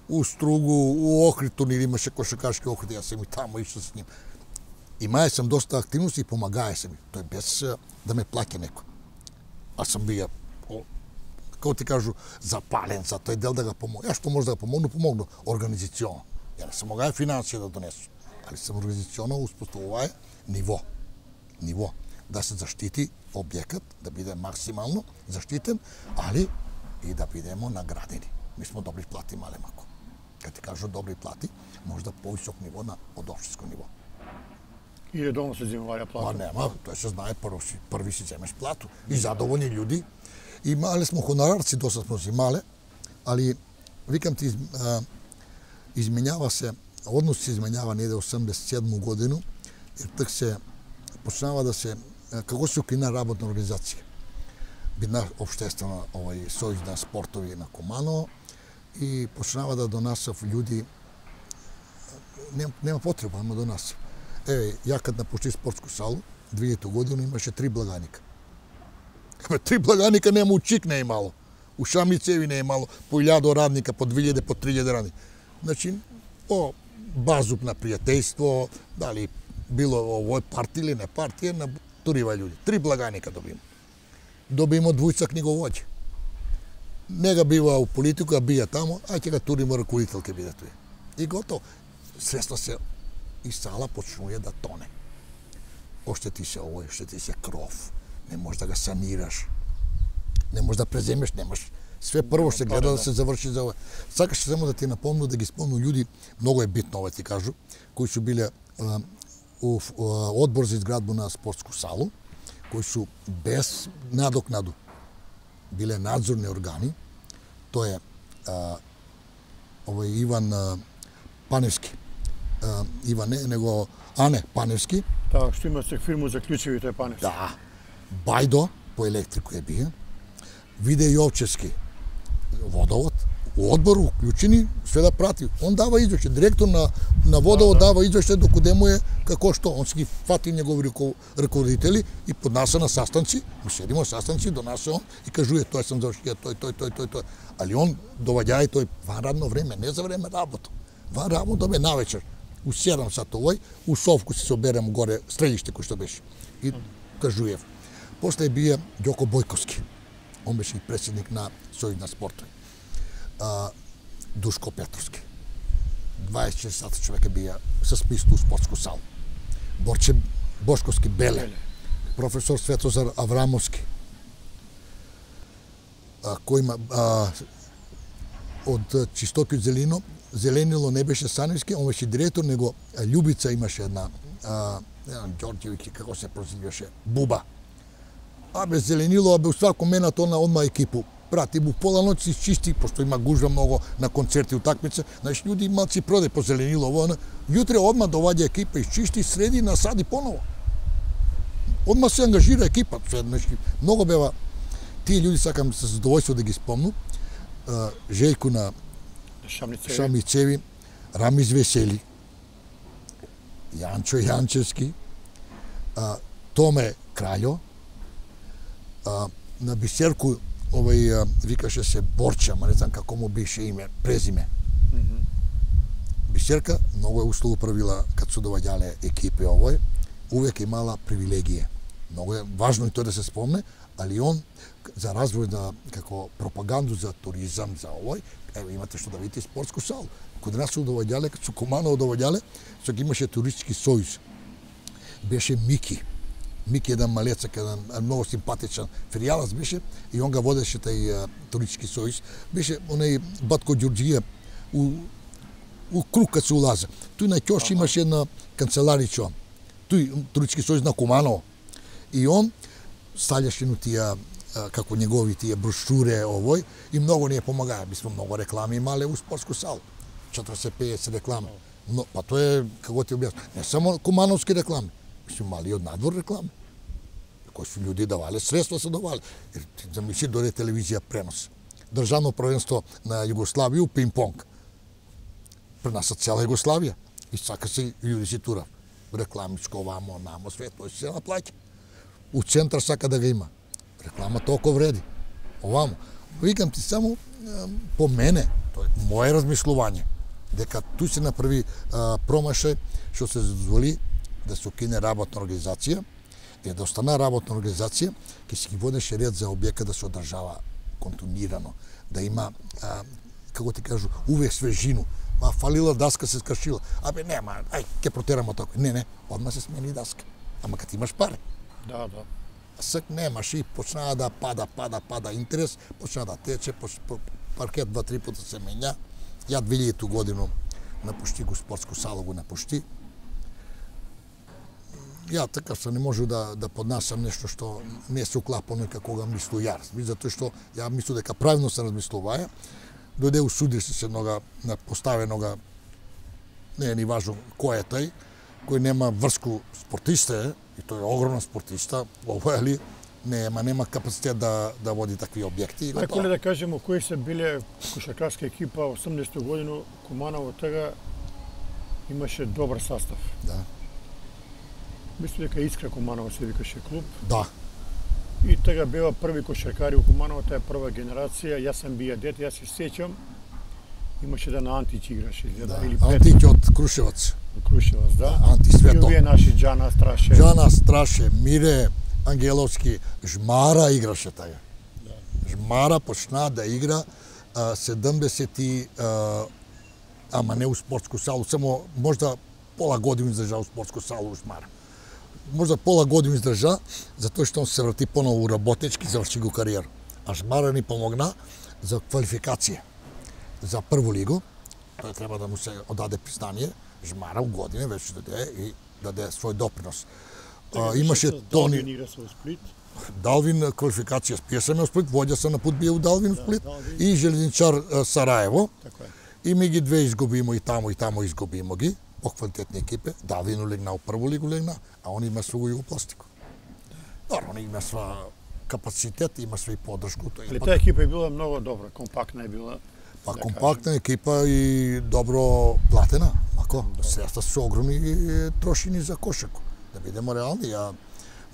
у Стругу, у Охрид турнир имаше кошаркашки Охрид, јас сам и таму ишao с ним. Имаја сам доста активности и помагаја сам. Тој без да ме плаќа некој. А сам бија како ти кажу, запален за тој дел да го помогне. Ја што може да го помогну, помогну организационо. Ја не се могаја финансија да донесу, али сам организационо успоставуваја ниво. Ниво. Да се заштити објектот, да биде максимално заштитен, али и да бидемо наградени. Ми сме добри плати, мале мако. Кога ти кажу добри плати, можда повисок ниво на од општинско ниво. И редовно се земуваја плата? Па нема, тоа се знае, прво си, први си земеш плату. И задоволни луѓе. Имале смо хонорарци, доста смо зимале, али, викам ти, а, изменјава се, однос се изменјава неде осемдесет и седма годину, jer так се почнава да се, како се укрина работна организација. Бидна обштествена овој сојуз на спортови на Куманово и почнава да донасав луѓе, нема, нема потреба, нема донасав. Еве, ја кад напуштив спортску салу, две илјадна година имаше три благаника. Абе, три благаника нема, у Чик не е имало. У Шамицеви не е имало по илјада радника, по две илјади, по три илјади радника. Значи, по базуп на пријателство, дали било овој партија или не партија, на турива луѓе. Три благаника добима. Добима двојца книговоѓи. Не га бива у политика, бија тамо, а ќе га туримо раководител ке биде тој. И готово. Средства се и сала почнува да тоне. Оштети се овој, оштети се кров. Не можеш да го санираш. Не можеш да преземеш, немаш. Све прво ще гледа да се заврши за овој. Сакаш само да ти напомнам, да ги спомнам луѓе, многу е битно ова ти кажу, кои су биле а, у а, одбор за изградба на спортску салу, кои су без надокнаду биле надзорни органи. Тоа е а, овој Иван а, Паневски. А, Иван не, него Ане Паневски. Таа што има се фирму за клучевите Паневски. Да. Бајдо по електрику е бие. Виде Јовчевски водовод, у одбор уклучени, све да прати. Он дава извеќе, директор на на водовод да, да. дава извеќе докуде му е како што. Он си ги фати негови раководители и поднася на састанци, ми седимо на састанци, донесе он и кажува тој сам завршија, тој, тој, тој, тој, тој. Али он доваѓај тој ван радно време, не за време работа. Ван работа бе навечер. У седам сат овој, у Совку се соберем горе, средиште кој што беше. И кажуев. После бие Ѓоко Бојковски. Он беше и председник на Сојуз на спортови. А, Душко Петровски. дваесет и четири сата човека бија со списку у спортску салу. Борче Бошковски Беле. Професор Светозар Аврамовски. А, кој има а, од Чистоки Зелино, Зеленило не беше Саневски, он беше директор, него Љубица имаше една, а, една Ѓорѓевиќи, како се прозиваше, Буба. Абе, Зеленило, абе, у свако менат она одма екипу. Прати му пола ноќ си чисти, пошто има гужва многу на концерти, утакмица. Значи, луѓе имаат си проде по Зеленило, ово, јутре одма доваѓа екипа, изчисти, среди, насади поново. Одма се ангажира екипа. Значи, многу бева, тие луѓе сакам со задоволство да ги спомнам. Жејко на Шамицеви, Шамицеви, Рамиз Весели, Јанчо Јанчевски, Томе Краљо, А, на Бисерку овој а, викаше се Борча, ма не знам како му беше име, презиме. Mm -hmm. Бисерка многу е услугу правила кад се доваѓале екипи овој, увек имала привилегија. Многу е важно и тоа да се спомне, али он за развој на како пропаганду за туризам, за овој, ево имате што да видите спортску салу. Кога нас се доваѓале, кад се Куманово доваѓале, се ги имаше туристички сојуз. Беше Мики. Мики еден малецак, еден многу симпатичен феријалац беше и он га водеше тај туристички сојуз. Беше онај Батко Ѓурџија у у круг кад се улазе. Тој на ќош имаше една канцеларичо. Тој туристички сојуз на Куманово. И он ставljаше на тие како негови тие брошуре овој и многу ни е помагаа. Ми сме многу реклами имале у спортску салу. четириесет пеесет реклами. Но па тоа е како ти објаснам, не само кумановски реклами. Су мали од надвор реклами. Кои су луѓе давале, средства се давале. Замисли дојде телевизија пренос. Државно првенство на Југославија у пинг-понг. Пренаса цела Југославија. И сака се луѓе си тура. Рекламичко, вамо, намо, све, тој се наплаќа. У центар сака да ga има. Реклама толку вреди. Овамо. Викам ти само по мене, тоа е моje размислување, дека туј се направи а, промашај што се дозволи да се укине работна организација, и да остана работна организација, ќе се ги водеше ред за објекат да се одржава континуирано, да има, а, како ти кажу, увек свежину. Ма фалила даска се скршила. Абе нема, ај, ќе протерамо така. Не, не, одма се смени даска. Ама кад имаш пари. Да, да. Сак немаш и почнаа да пада, пада, пада интерес, почнаа да тече, поч... паркет два-три пута се менја. Ја две илјадна година напушти го спортску салу, го напушти. Ја така се не можу да да поднасам нешто што не се уклапа како го мислу јас. Затоа што ја мислам дека правилно се размислуваја. Дојде у суди се нога на поставенога, не е ни важно кој е тај, кој нема врску спортиста е, и тој е огромна спортиста, овој али нема нема капацитет да да води такви објекти. Ако ли да кажеме кои се биле кошаркарска екипа осумдесета година, Куманово тега имаше добар состав. Да. Мислам дека Искра Куманово се викаше клуб. Да. И тега беа први кошаркари у Куманово, таа е прва генерација. Јас сам бија дете, јас се сеќам. Имаше да на Антич играше, Да. или Антич од Крушевац. Крушевац, да. Анти Свето. И овие наши Џана Страше. Џана Страше, Мире Ангеловски, Жмара играше тага. Да. Жмара почна да игра а, седумдесети, а, ама не у спортску салу, само можда пола година издржа у спортску салу у Жмара. Можда пола година издржа, затоа што он се врати поново у работнички, заврши го кариера. А Жмара ни помогна за квалификација за прву лигу. Тој треба да му се одаде признание. Жмара у година веќе даде и даде свој допринос. А, имаше Тони игра со Сплит. Далвин квалификација спиесаме у Сплит, воѓа се на пут бие у Далвин у Сплит Далвин. и Железничар а, Сараево. Така е. И ми ги две изгубимо и тамо и тамо изгубимо ги, поквалитетни екипе. Далвин улегна у прву лигу легна, а он има свој југопластико. Добро, он има своја капацитет, има свој подршку. Тој Али пак- таа екипа е била многу добра, компактна е била. Па да компактна екипа и добро платена. Ако средства се огромни е, трошини за кошарку. Да бидеме реални, ја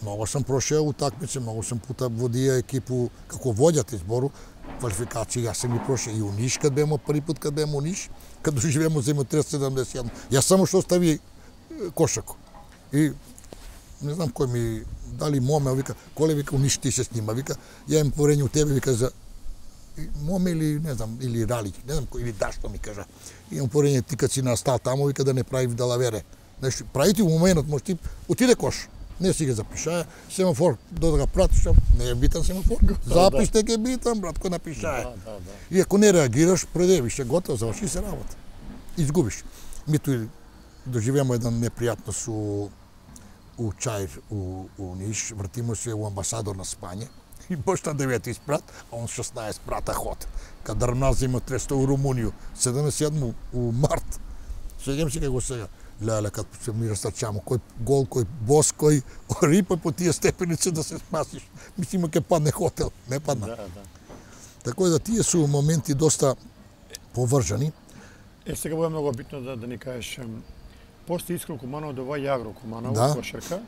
многу сам прошео утакмици, многу сам пута водија екипу како воѓат избору, квалификации, јас сам ги прошео и у Ниш, кад бемо први пат кад бемо у Ниш, кад доживеемо земјотрес седумдесет и едно. Јас само што остави е, кошарку. И не знам кој ми дали моме, вика, коле вика у Ниш ти се снима, вика, ја имам поверење у тебе, вика за моме или не знам, или Ралич, не знам кој, или Дашто ми кажа. Имам поверење ти кад си на стал тамо, вика да не прави далавере. Нешто, прави ти у моментот, може ти отиде кош. Не си ги запишаја, семафор, до да го пратиш, не е битан семафор. Запиште ќе битан, брат, кој напишаја. Да, да, да. И ако не реагираш, предевиш се готово, заврши се работа. Изгубиш. Ми тој доживеемо еден непријатност у у Чаир, у, у Ниш, вратимо се у амбасадор на Спање. И баш на девети спрат, а он шеснаесет прата ход. Кад Дрмназ има тресто у Румунiju, седумдесет и седмо у март. Сеќам се како сега. Леле, кад се ми растачамо, кој гол, кој бос, кој рипа по тие степеници да се спасиш. Мислимо ке падне хотел, не падна. Да, да. Така да тие су моменти доста повржани. Е, сега бува многу битно да, да ни кажеш, ем, после Искра Куманово доваѓа Агро Куманово, Да. кошарка.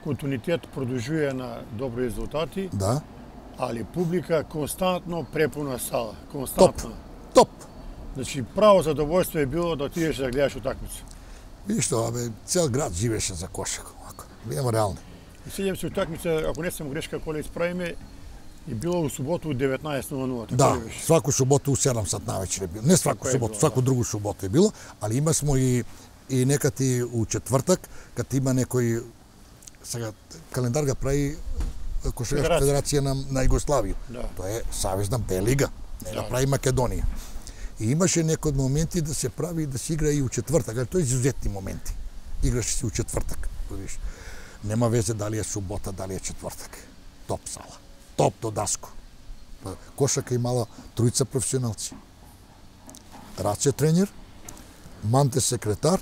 Континуитет продолжува на добри резултати, Да. али публика константно препуна сала. Константно. Топ. Значи, право задоволство е било да отидеш да гледаш утакмица. Видиш што, абе, цел град живеше за кошарка, ако. Бидеме реални. И сеќавам се утакмица, ако не сам грешка, коли исправиме, и било у суботу у деветнаесет нула нула. така Да, ли беше? сваку суботу у седум сат навечер е било. Не сваку Така е суботу, било, сваку да. другу суботу е било, али има смо и и некати у четвртак, кад има некој сега календар га прави Кошаркашка Федерација. федерација на, на Југославија. Да. Тоа е Савезна Б лига, не Да. да прави Македонија. И имаше некои моменти да се прави да се игра и у четвртак, али тоа е изузетни моменти. Играше се у четвртак, видиш. Нема везе дали е субота, дали е четвртак. Топ сала. Топ до даско. Па, Кошарка имала тројца професионалци. Раце тренер, Манте секретар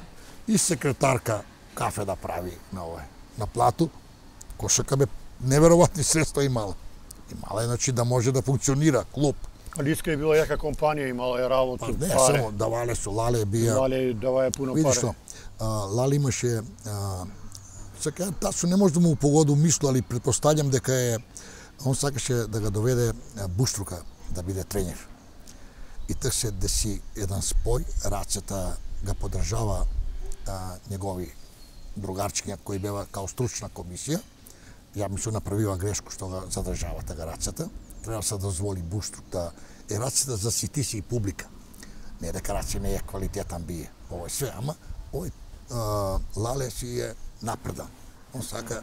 и секретарка кафе да прави на овој, на плату. Кошарка бе неверојатни средства имала. Имала е, значи, да може да функционира клуб. Али Искра е била јака компанија, имала е работу, Па не, паре. само давале су, Лале бија. Дали даваја пуно Видиш паре. што, а, Лали имаше, а, сега тасо не може да му погоду мисло, али предпоставljam дека е, он сакаше да го доведе а, Буштрука да биде тренер. И так се деси еден спој, Рацета ga подржава а, негови другарчиња кои бева као стручна комисија. Ја ми се направила грешку што го задржава тага Рацета. Треба да се дозволи Буштрук да е Рацета за ситиси и публика. Не дека Раце не е квалитетан бие, ово е све, ама овој а, Лале си е напредан. Он сака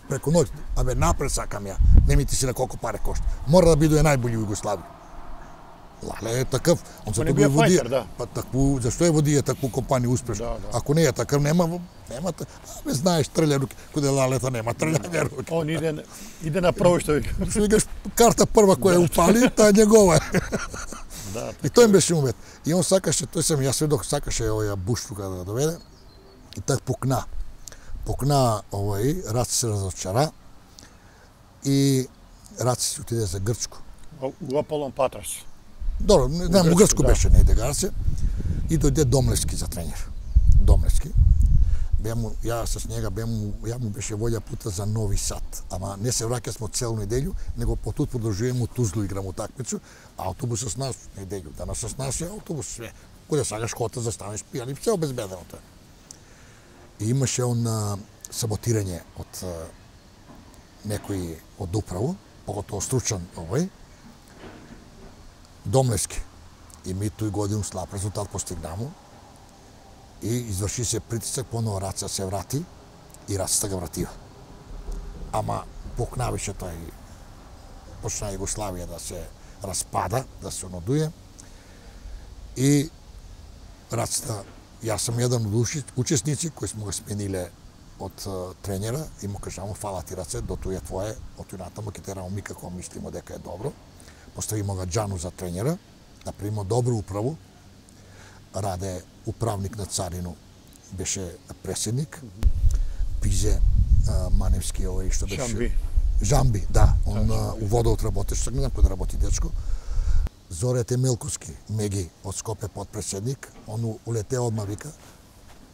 преку ноќ, абе напред сакам ја, не ми ти си на колку паре кошта. Мора да биде најбољи у Југославија. Лале е такав, он Па не се бија го води, фајтер, да. па такву, зашто е води такву компанија успешна? Да, да. Ако не е такав, нема, нема, та- абе знаеш трља руки, куде Лалета нема трљање руки. Он иде, иде на прво што вика. Што викаш, карта прва која упали, таа е негова. Да, И тој им беше умет. И он сакаше, тој сам јас сведок, сакаше овоја Буштрука да го доведе. И так пукна. Пукна овој, Раце се разочара. И Раце си отиде за Грчко. у Аполон Патрас. Добро, не знам, у Грчко, Грчко да. беше, не иде Гарце. И дојде Домлевски за тренер. Домлевски. Бем, ја с njega бем, ја му беше волја пута за Нови Сад. Ама не се враќа смо целу неделю, него потут продолжуваме у Тузлу играм утакмицу, а автобус с нас неделю. Данас с нас е автобус све. Кога сакаш хота застанеш пијани, се обезбедено тоа. И имаше он а, саботирање од а, некој од управо, поготово стручен овој, Домлески. И ми тој годину слаб резултат постигнамо. И изврши се притисак, поново Раца се врати и Рацата ga вратива. Ама покнавише тој, почна Југославија да се распада, да се онодуе. И Рацата, јас сум еден од учесници кои смо го смениле од uh, тренера и му кажамо фала ти Раце, до тој е твое, од тој натаму ќе терамо ми како мислимо дека е добро. Поставимо ga Џану за тренера, направимо добру управу. Раде управник на Царину беше преседник. Пизе а, Маневски овој што беше Жамби. Жамби, да, он да, у водот работеше, не знам кој да работи дечко. Зоре Темелковски, Меги од Скопје подпреседник, он улете одма вика,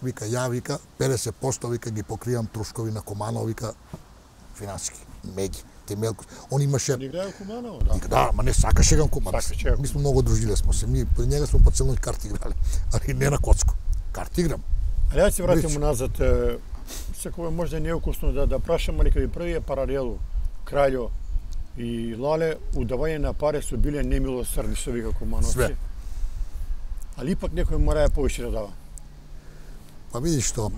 вика ја вика педесет проценти вика ги покривам трошкови на Куманово, вика финансиски. Меги Темелковски. Он имаше Он играе Куманово, да. Да, ма не сакаше гам Куманово. Ми сме многу дружиле смо се. Ми по njega смо по целој карти играле, али не на коцко. Карти играм. Али ја се вратим назад. Секој може да не е укусно да да прашам, али кај првиот паралелу Краљо и Лале удавање на пари су биле немилосрдни, што вика Кумановци. Све. Али ипак некој мора ја повише да дава. Па видиш што,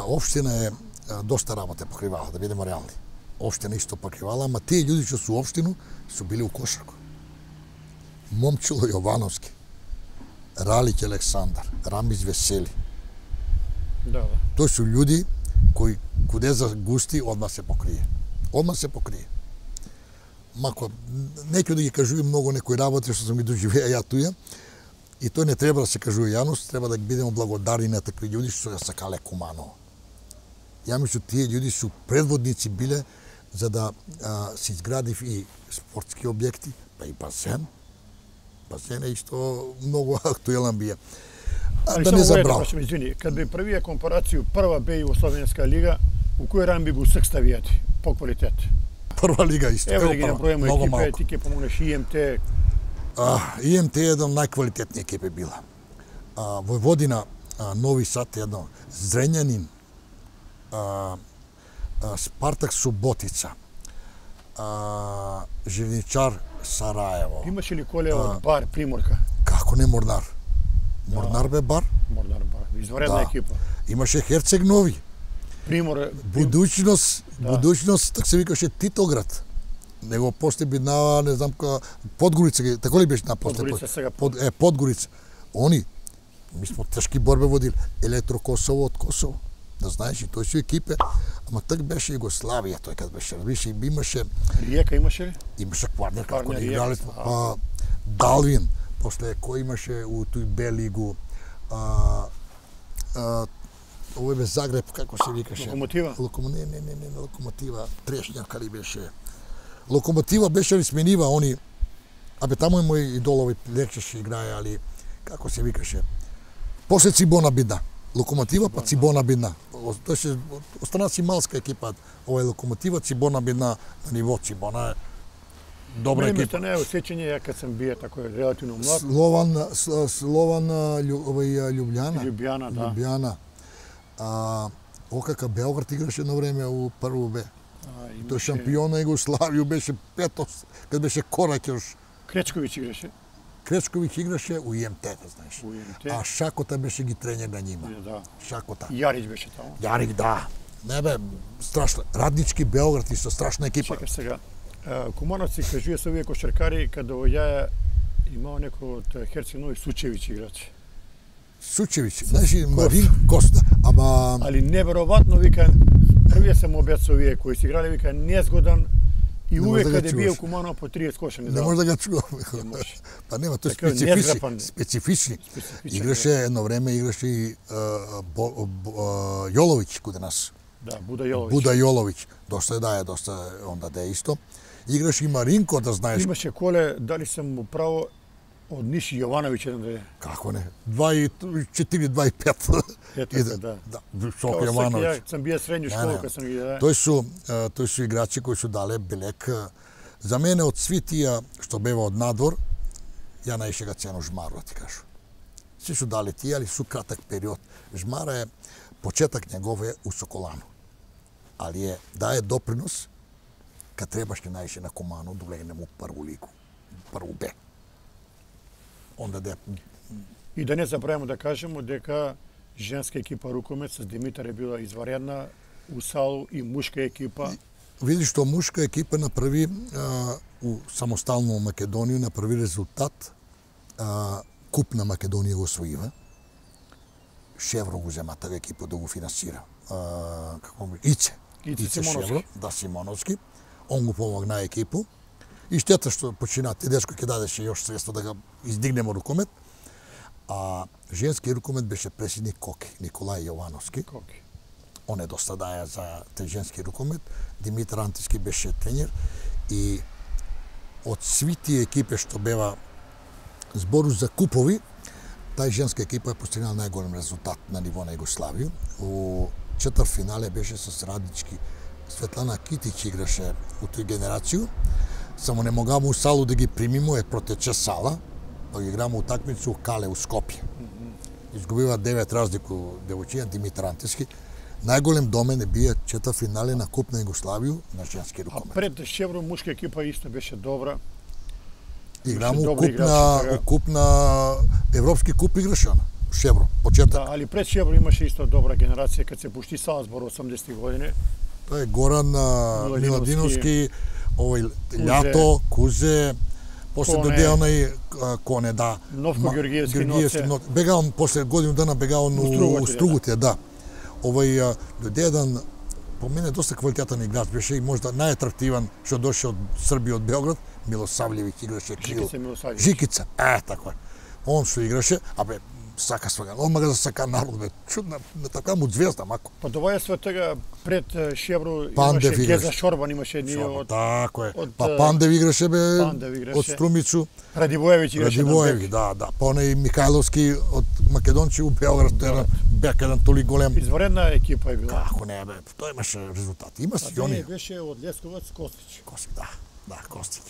општина е а, доста работа покривала, да бидеме реални. Општина исто покривала, ама тие луѓе што су општину су били у кошарку. Момчило Јовановски, Ралиќ Александар, Рамис Весели. Да, да. Тој су луѓе кои куде за густи одма се покрие. Одма се покрие. Мако некој да ги кажува многу некои работи што сум ги доживеа ја туја, и тој не треба да се кажува јавност, треба да ги бидеме благодарни на такви луѓе што ја сакале Куманово. Ја мислам тие луѓе су предводници биле за да а, се изградив и спортски објекти, па и базен. Базен е исто многу актуелен бија. А, да не забрав. Извини, кад би првија компарацију прва Б Југословенска лига, у кој ран би го секставијати по квалитет? Прва лига исто. Ево да ги набројаме екипе, ти ќе помогнеш И М Т. А, И М Т е еден најквалитетни екипи била. А, Војводина, а, Нови Сад едно, Зрењанин, а, а, Спартак Суботица, а, Живничар Сараево. Имаше ли коле од Бар Приморка? Како не Морнар? Морнар бе Бар. Морнар Бар, изваредна Да. екипа. Имаше Херцег Нови. Примор, Будуćност, Да. будуćност, так се викаше Титоград. Него после биднава, не знам ка, Подгорица, тако ли беше на после? Подгорица сега. Под, е, Подгорица. Они, ми смо тешки борбе водили. Електро Косово од Косово. Да знаеш, и тој су екипе. Ама так беше Југославија, тој кад беше. Више, имаше, Риека имаше ли? имаше Кварнер, како Кварнер, да играле. Риека, Па, Далвин, после кој имаше у тој Б лигу, а, а, овој бе Загреб, како се викаше? Локомотива? Локомо... Не, не, не, не, не, Локомотива, Трешњак ли беше? Локомотива беше ли сменива, они... Абе, таму е мој идол, овој лекчеше играе, али... Како се викаше? После Цибона Бидна. Локомотива, па Цибона Бидна. Тој се... Остана си малска екипа, овој Локомотива, Цибона Бидна, на ниво Цибона е добра екипа. екипа. Не е осеќање, ја кад сам бие тако релативно млад. Слован, Слован, овој Љубљана. Љубљана, да. Љубљана. А, ОКК Белград играше на време у прво Б. Тој шампион на Југославија беше пето, кад беше Корак још. Кречковиќ играше. Кречковиќ играше у И М Т, да знаеш. У И М Т. А Шакота беше ги тренер на нима. Да. Шакота. Јарич беше таму. Јарик, да. Не бе, страшно. Раднички Белград исто страшна екипа. Чекаш сега. Кумановци кажуја се овие кошаркари каде ја имао некој од Херцег Нови Сучевиќ играч. Сучевиќ, знаеш, Марин Коста, ама... Али неверојатно, вика, првиот сам обед со овие кои се играле, вика, незгодан и увек каде бие у Куманово по тридесет кошани. Не може да го чувам. Па нема, тој специфични, специфични. Играше едно време, играше и Јоловиќ каде нас. Да, Буда Јоловиќ. Буда Јоловиќ. Доста е да е, доста онда да е исто. Играше и Маринко, да знаеш. Имаше коле, дали сам му право, Од Ниши Јовановиќ еден да е. Како не? два и четири, два и пет. Ето така, да. Да, Шоко Јовановиќ. Ја сам бија средњу школа кога сам ги да. Тој су, тој су играчи кои су дале белек. За мене од сви тие што бева од надвор, ја најше га цено Жмару, ти кажу. Си су дали тие, али су кратак период. Жмара е почеток негов е у Соколану. Али е дае допринос кад требаше најше на Кумано да влегне му прву лигу, прву Б. Онда де И да не забравимо да кажемо дека женска екипа рукомет с Димитар е била изваредна, у Салу и мушка екипа. Види што мушка екипа направи а, у самостално Македонија направи резултат. А, Куп на Македонија го освоива. Шевро го зема таа екипа да го финансира. А, како ми Ице. Ице, Ице Симоновски. Шевро, да Симоновски. Он го помогна екипу. И штета што почина Тедешко ќе дадеше још средства да го издигнемо рукомет. А женски рукомет беше председник Коки, Николај Јовановски. Коки. Он е доста даја за те женски рукомет. Димитар Антиски беше тренер и од сви тие екипи што бева збору за купови, тај женска екипа е постигнала најголем резултат на ниво на Југославија. У четвртфинале беше со Радички. Светлана Китич играше у тој генерацију. Само не могамо у Салу да ги примимо, е протече Сала, па ги играмо утакмицу у Кале у Скопје. Изгубива девет разлику девојчиња Димитар Антиски. Најголем домен е бие четвртфинале на Куп на Југославија на женски рукомет. А пред Шевро мушка екипа исто беше добра. Играмо Беше у добри Куп на играчи, у Куп на Европски куп играше она. Шевро, почеток. Да, али пред Шевро имаше исто добра генерација кад се пушти Салзбор осумдесети години. Тоа е Горан а, Миладиновски, Миладиновски, овој Кузе, Лјато, Кузе, после Коне, доде онај а, Коне, да. Новко Ма- Георгиевски Георгиевски Ноце. Ноце. Бега он после годину дана бега он у Стругутија, Стругутија, да. Овој а, доде еден по мене доста квалитетен играч беше и можда најатрактиван што доше од Србија од Белград, Мило Сављевиќ играше крил. Жикица Милосављевиќ. Жикица, е, тако е. Он што играше, абе, сака свага, он мага да сака народ, бе, чудна, на така му звезда, мако. Па доваја све тега пред е, Шевро Пандев имаше играше. Геза Шорбан, имаше ние Шо, од Тако е. од, Па е, Пандев играше, бе, Пандев играше. од Струмицу. Радивоевиќ играше на Радивоевиќ, бек. да, да. Па онај Михајловски од Македонци у Белград, тој еден бек еден толи голем. Изваредна екипа е била. Како не, бе, тоа имаше резултати. Има си А они. не беше од Лесковац Костич. Костик, да, да, Костик.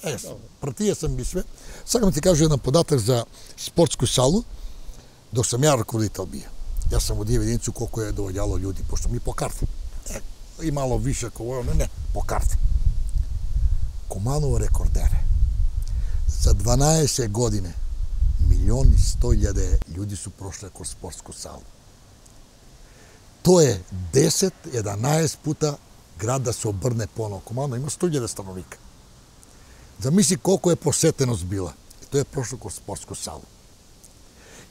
Е, пратија сам ги све. Сакам ти кажа еден податок за спортску салу, док сам ја раководител бија. Јас сам од евиденцiju колку е доаѓало луѓе, пошто ми по карта. Е, и мало више кој не, не, по карта. Куманово рекордере. За дванаесет години милион и сто илјаде луѓе су прошле кроз спортску салу. Тоа е десет еданаесет пута град да се обрне поново. Куманово има сто илјаде становика. Замисли колку е посетеност била. И тоа е прошло кроз спортску салу.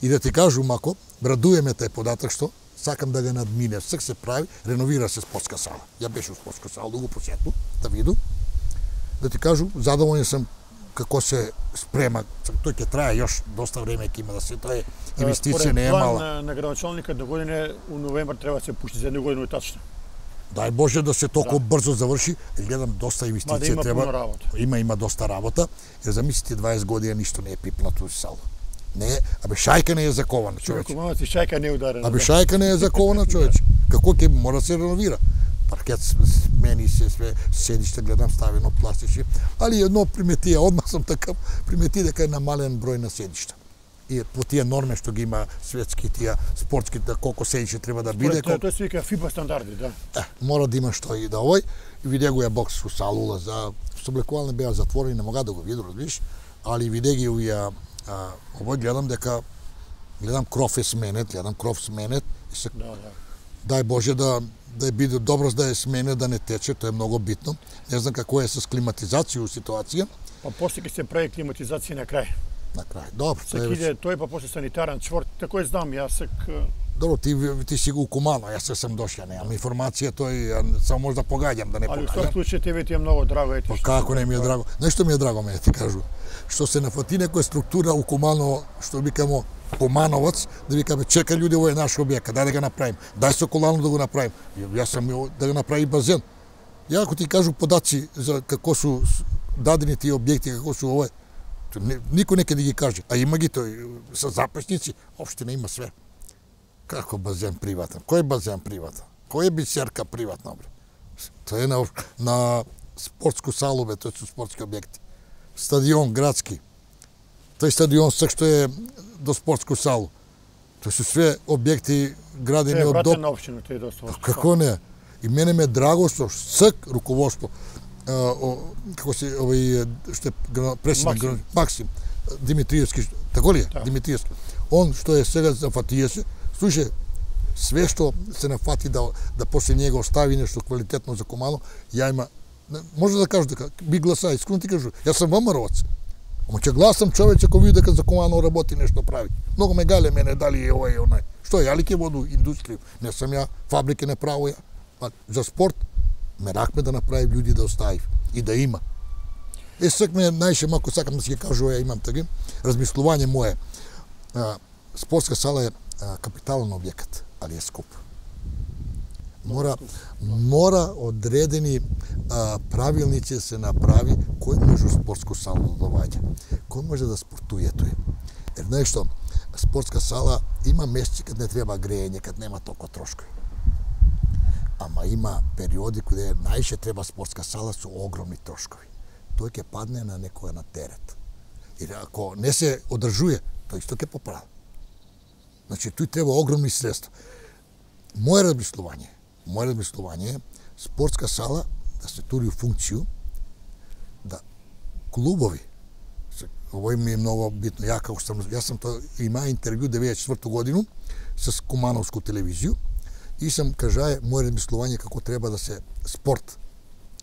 И да ти кажу, мако, радуеме тај податок што сакам да го надмине. Сак се прави, реновира се спортска сала. Ја беше у спортска сала, да го посету, да виду. Да ти кажу, задоволен сум како се спрема. Тој ќе трае још доста време ќе има да се тоа е инвестиција не е план мала. на, на градоначалника до година у новембар треба да се пушти за една година тачно. Дај Боже да се толку брзо заврши, гледам доста Ма да инвестиција има треба. пуно работа. Има има доста работа. Jer замислите дваесет години ништо не е пипнато у сало. Не, е, абе шајка не е закована, човече. Кумановци шајка не е ударена. Абе да. шајка не е закована, човече. Како ќе мора да се реновира? Паркет смени се све, седиште гледам ставено пластични, али едно приметија, одмах сам така примети дека е намален број на седишта. И по тие норме што ги има светски тие спортските колку седиште треба да биде, Тоа тоа се вика фиба стандарди, да. Е, мора да има што и да овој. И виде го ја бокс у салула за соблекувални беа затворени, не мога да го виду, разбираш, али виде ги уја а, овој гледам дека гледам кров е сменет, гледам кров сменет и се Да, да. дај Боже да да е биде добро да е сменет, да не тече, тоа е многу битно. Не знам како е со климатизација у ситуација. Па после ќе се прави климатизација на крај. На крај. Добро, Сак тоа е. иде тој, па после санитарен чвор, тако е знам, јас сак... Добро, ти ти си го Кумано, јас се сам дошја, немам информација, тој ја само може да погаѓам, да не Али во погаѓам. секој случај тебе ти е многу драго, ете. Па што како се не ми е прави. драго? Нешто ми е драго, ме ти кажу. Што се нафати некоја структура у Куманово, што викамо Кумановац, да викаме чека луѓе, ово е наш објект, дај да го направим. Дај Соколану да го направим. Јас сам да го направи базен. Ја ако ти кажу подаци за како су дадени тие објекти, како су овој, Никој неке да ги каже, а има ги тој со записници, општина има све. Како базен приватен? Кој базен приватен? Кој е бисерка приватна, бре? Тоа е на, на спортску салу, бе, тоа се спортски објекти. Стадион градски. Тој стадион сак што е до спортску салу. Тоа се све објекти градени од доп. Тоа е на општина, тоа е доста. Како не? И мене ме драго што сак руководство, а, о, како се овој што е председник Максим Димитриевски, тако ли е? Да. Димитриевски. Он што е сега зафатија се, слушај, све што се нафати да да после него остави нешто квалитетно за Куманово, ја има, може да кажу дека би гласа, искрено ти кажу, јас сум ВМРО-вац. Ама ќе гласам човече ако види дека за Куманово работи нешто прави. Многу ме гале мене дали е овој и онај. Што ја ли ќе воду индустрија? Не сум ја, фабрики не право ја. Па за спорт меракме да направи луѓе да оставив и да има. Е сак ме најше мако сакам да си ќе кажу, ја имам таки размислување мое. А, спортска сала е а, капитален објект, али е скуп. Мора мора одредени а, правилници да се направи кој може у спортску салу да доаѓа. Кој може да спортуе тој. Ер знаеш што, спортска сала има месеци кад не треба грејење, кад нема толку трошкови. Ама има периоди каде најше треба спортска сала со огромни трошкови. Тој ќе падне на некоја на терет. И ако не се одржува, тој исто ќе поправи. Значи, тој треба огромни средства. Моје размислување, моје размислување е спортска сала да се тури у функцију, да клубови, овој ми е многу битно, ја како сам, јас сам тоа, има интервју деветдесет и четврта година с Кумановску телевизију, и сам кажае моје размислување како треба да се спорт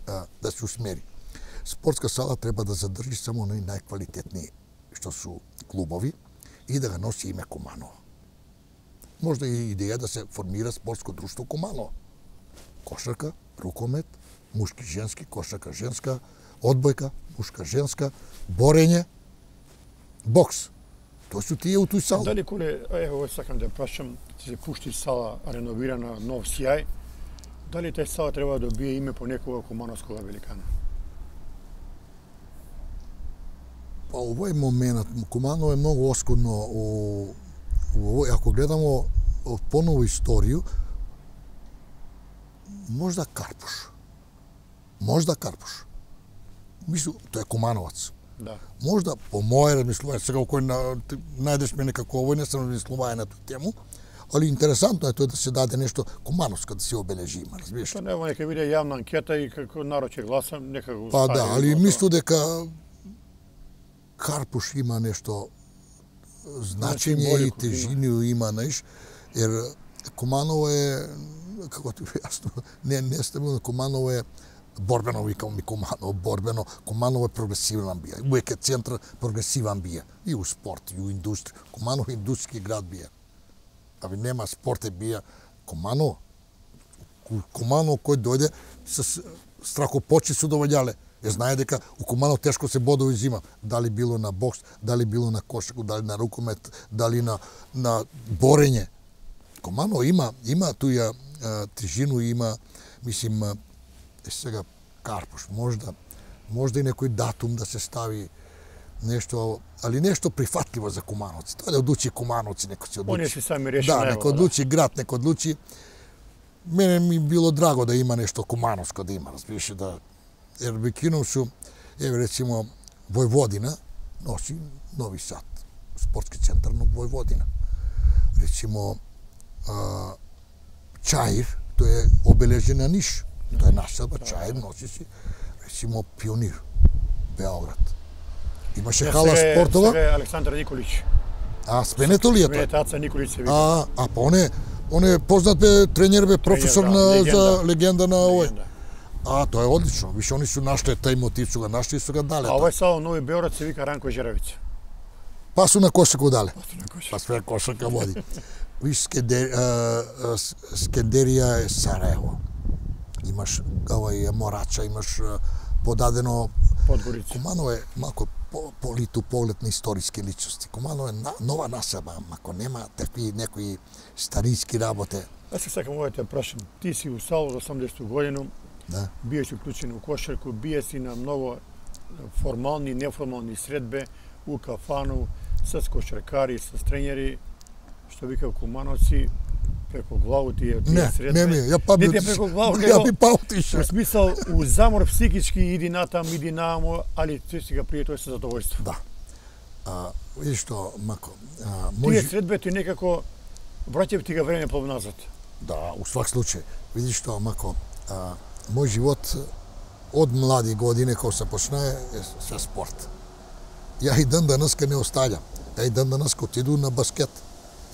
а, да се усмери. Спортска сала треба да задржи само на најквалитетни што су клубови и да го носи име Куманово. Можда и идеја да се формира спортско друштво Куманово. Кошарка, рукомет, мушки, женски, кошарка, женска, одбојка, мушка, женска, борење, бокс. Тоа су тие у тој сала. Дали коле, ево сакам да прашам, се пушти сала реновирана, нов сјај, дали тај сала треба да добие име по некога кумановскога великана? Па овој моментот, Куманово е многу оскудно у, у овој, ако гледамо поново историју, можда Карпуш. Можда Карпуш. Мислу, тој е Кумановац. Да. Можда, по моје размислување, сега кој на, најдеш мене како овој, не сам размислување на тој тему, али интересантно е тоа да се даде нешто кумановско да се обележи, има, разбираш? Тоа нема нека биде јавна анкета и како народ ќе гласа, нека го Па стави. да, али мислу дека Карпуш има нешто значење и тежину има, знаеш, ер Куманово е, како ти јасно, не не стабилно, Куманово е борбено, викам ми Куманово, борбено, Куманово е прогресивна бија, uvek е центар прогресиван бија, и у спорт, и у индустрија. Куманово е индустријски град бија. Аби нема спорт е бија. Куманово, Куманово кој дојде с страхопочи се доваѓале. Е знае дека у Куманово тешко се бодови зима, дали било на бокс, дали било на кошарку, дали на рукомет, дали на на борење. Куманово има има туја тежину, има, мислим, е сега Карпуш, можда можда и некој датум да се стави нешто, али нешто прифатливо за кумановци. Тоа да одлучи кумановци, некој се одлучи. Они се сами реши. Да, некој одлучи град, некој одлучи. Мене ми било драго да има нешто кумановско да има, разбираш, да ер векинов су, еве речимо Војводина носи Нови Сад, спортски центар на Војводина. Речимо а, Чаир, тоа е обележен на Ниш. Тоа е населба, Чаир носи си, речимо Пионир, Београд. Имаше хала спортова. Сега е Александар Николич. А, сменето ли е тоа? Сменетаца Николич се вика. А, а па он е, он е познат бе тренер бе, професор да, на легенда. за легенда на овој. Легенда. А, тоа е одлично. Више они су нашле тај мотив, су го нашли и су го дале. А овој сало Нови Београд се вика Ранко Жеревица. Па су на кошаку дале. Па су на кошаку. Па све кошака води. Виж, Скендер, Скендерија е Сараево. Имаш овој Морача, имаш подадено Подгорица. Куманово е малку по, политу поглед на историски личности. Куманово е на, нова населба, ако нема такви некои старински работи. Аз се сакам овој те прашам. Ти си у Сало за осамдесета година, Да. бие си уклучен у кошарку, бие си на многу формални и неформални средбе у кафану, с кошаркари, с тренери, што вика кумановци, преку главу тие тие средбе. Не, не, ја па не тие преку главу, ја би па отишao. Во смисол, у замор психички иди натам, иди намо, али тој си га прие тој со задоволство. Да. А, видиш што, Мако, а, може... Тие средбе ти некако враќаат ти га време по назад. Да, у свак случај. Видиш што, Мако, а, мој живот од млади години кога се почнае е се спорт. Ја и ден денеска не остаѓам. Ја и ден денеска отиду на баскет.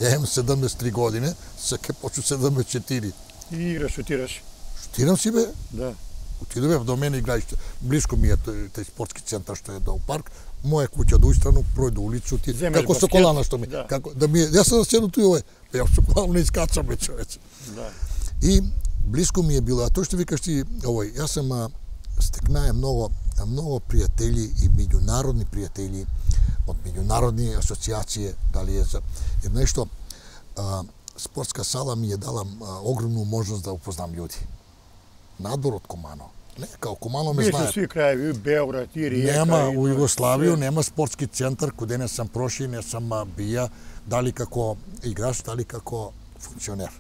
Ја имам седумдесет и три години, се ке почу седумдесет и четири. И играш, шутираш? Шутирам си, бе. Да. Отидове до мене играиште. Блиско ми е тој, тој спортски центар што е до парк. Моја куќа до истрано, прој до улицу, ти како со колана што ми. Да. Како да ми јас сам седу туј овој. Ја со колана не искачам бе, човече. Да. И блиско ми е било, а тоа што викаш ти овој, јас сам стекнае многу многу пријатели и меѓународни пријатели од меѓународни асоциации, дали е за е нешто а, спортска сала ми е дала а, огромну можност да упознам луѓе. Надвор од Куманово. Не, као Куманово ме знаат. Беше сви краеви, Београд, и Риека. Нема и... у Југославија, нема спортски центар каде не сам проши, не сам бија, дали како играч, дали како функционер.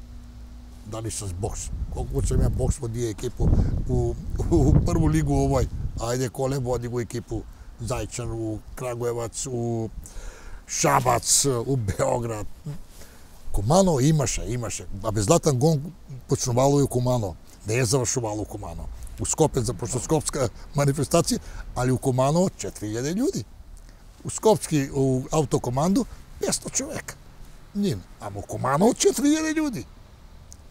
Дали со бокс. Колку сум ја бокс води екипу у, у, у прву лигу овој. Ајде Коле води го екипу Зајчар, у Крагуевац, у Шабац, у Београд. Куманово имаше, имаше. А без Златан Гон почнувало и у Куманово. Не е завршувало у Куманово. У Скопје започна скопска манифестација, али у Куманово четири илјади луѓе. У Скопски, у автокоманду песто човека. Нин, ама у Куманово четири илјади луѓе.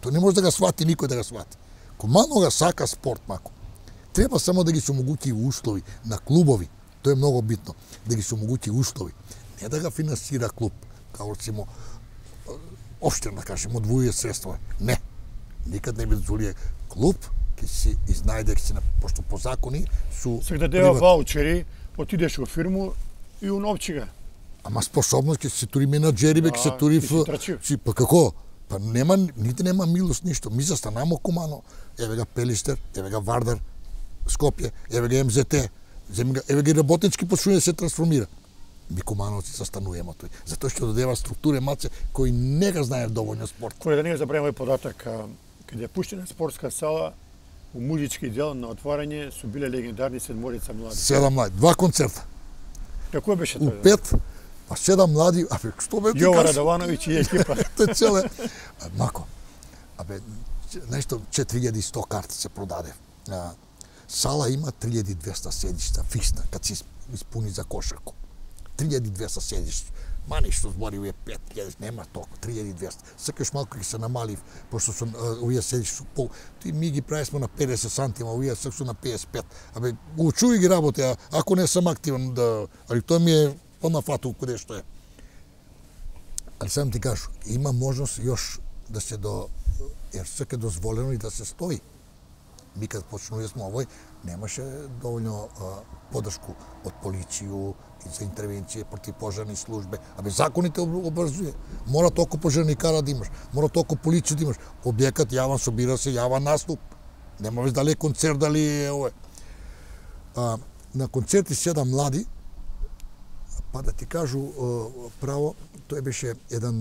Тоа не може да го свати никој да го свати. Куманово го сака спорт, Мако. Треба само да ги се омогути услови на клубови. Тоа е многу битно, да ги се омогути услови. Не да го финансира клуб, као рецимо општина, да кажем, одвојува средства. Не. Никад не би дозволија клуб ќе си изнајде, ќе си на пошто по закони су се дадеа ваучери, отидеш во фирму и уновчига. Ама способност ќе се тури менаџери, ќе се тури в си па како? Па нема нити нема милост ништо. Ми застанамо Куманово. Еве га Пелиштер, еве га Вардар, Скопје, еве га Ем Зе Те, еве га работнички почнува да се трансформира. Ми Кумановци застануваме тој. Затоа што додева структури маце кои не го знаат доволно спорт. Кој да не забраваме податок, каде е пуштена спортска сала, у музички дел на отварање су биле легендарни седморица млади. Седам млади, два концерта. Како беше тоа? У пет, па седам млади, абе што бе ти Јова Радовановиќ и екипа. Тоа целе. Мако. Абе нешто четири илјади и сто карти се продаде. Сала има три илјади и двесте седишта фиксна, кад се испуни за кошарку. три илјади и двесте седишта. Ма нешто збори овие пет илјади, нема толку, три илјади и двесте. Сакаш малку ќе се намали, пошто сум овие седишта су пол. Ти ми ги прависмо на педесет сантима, овие сак су на педесет и пет. Абе учуј ги работи, а ако не сам активен да, али тоа ми е понафату каде што е. Али сам ти кажу, има можност још да се до ер сак е дозволено и да се стои. Ми кад почнуваме овој, немаше доволно а, подршку од полицију и за интервенција против пожарни службе. Абе законите обрзуе. Мора толку пожарни кара да имаш, мора толку полиција да имаш. Објекат јавен собира се, јавен наступ. Нема веќе дали е концерт, дали е овој. А, на концерти седам млади, па да ти кажу право, тој беше еден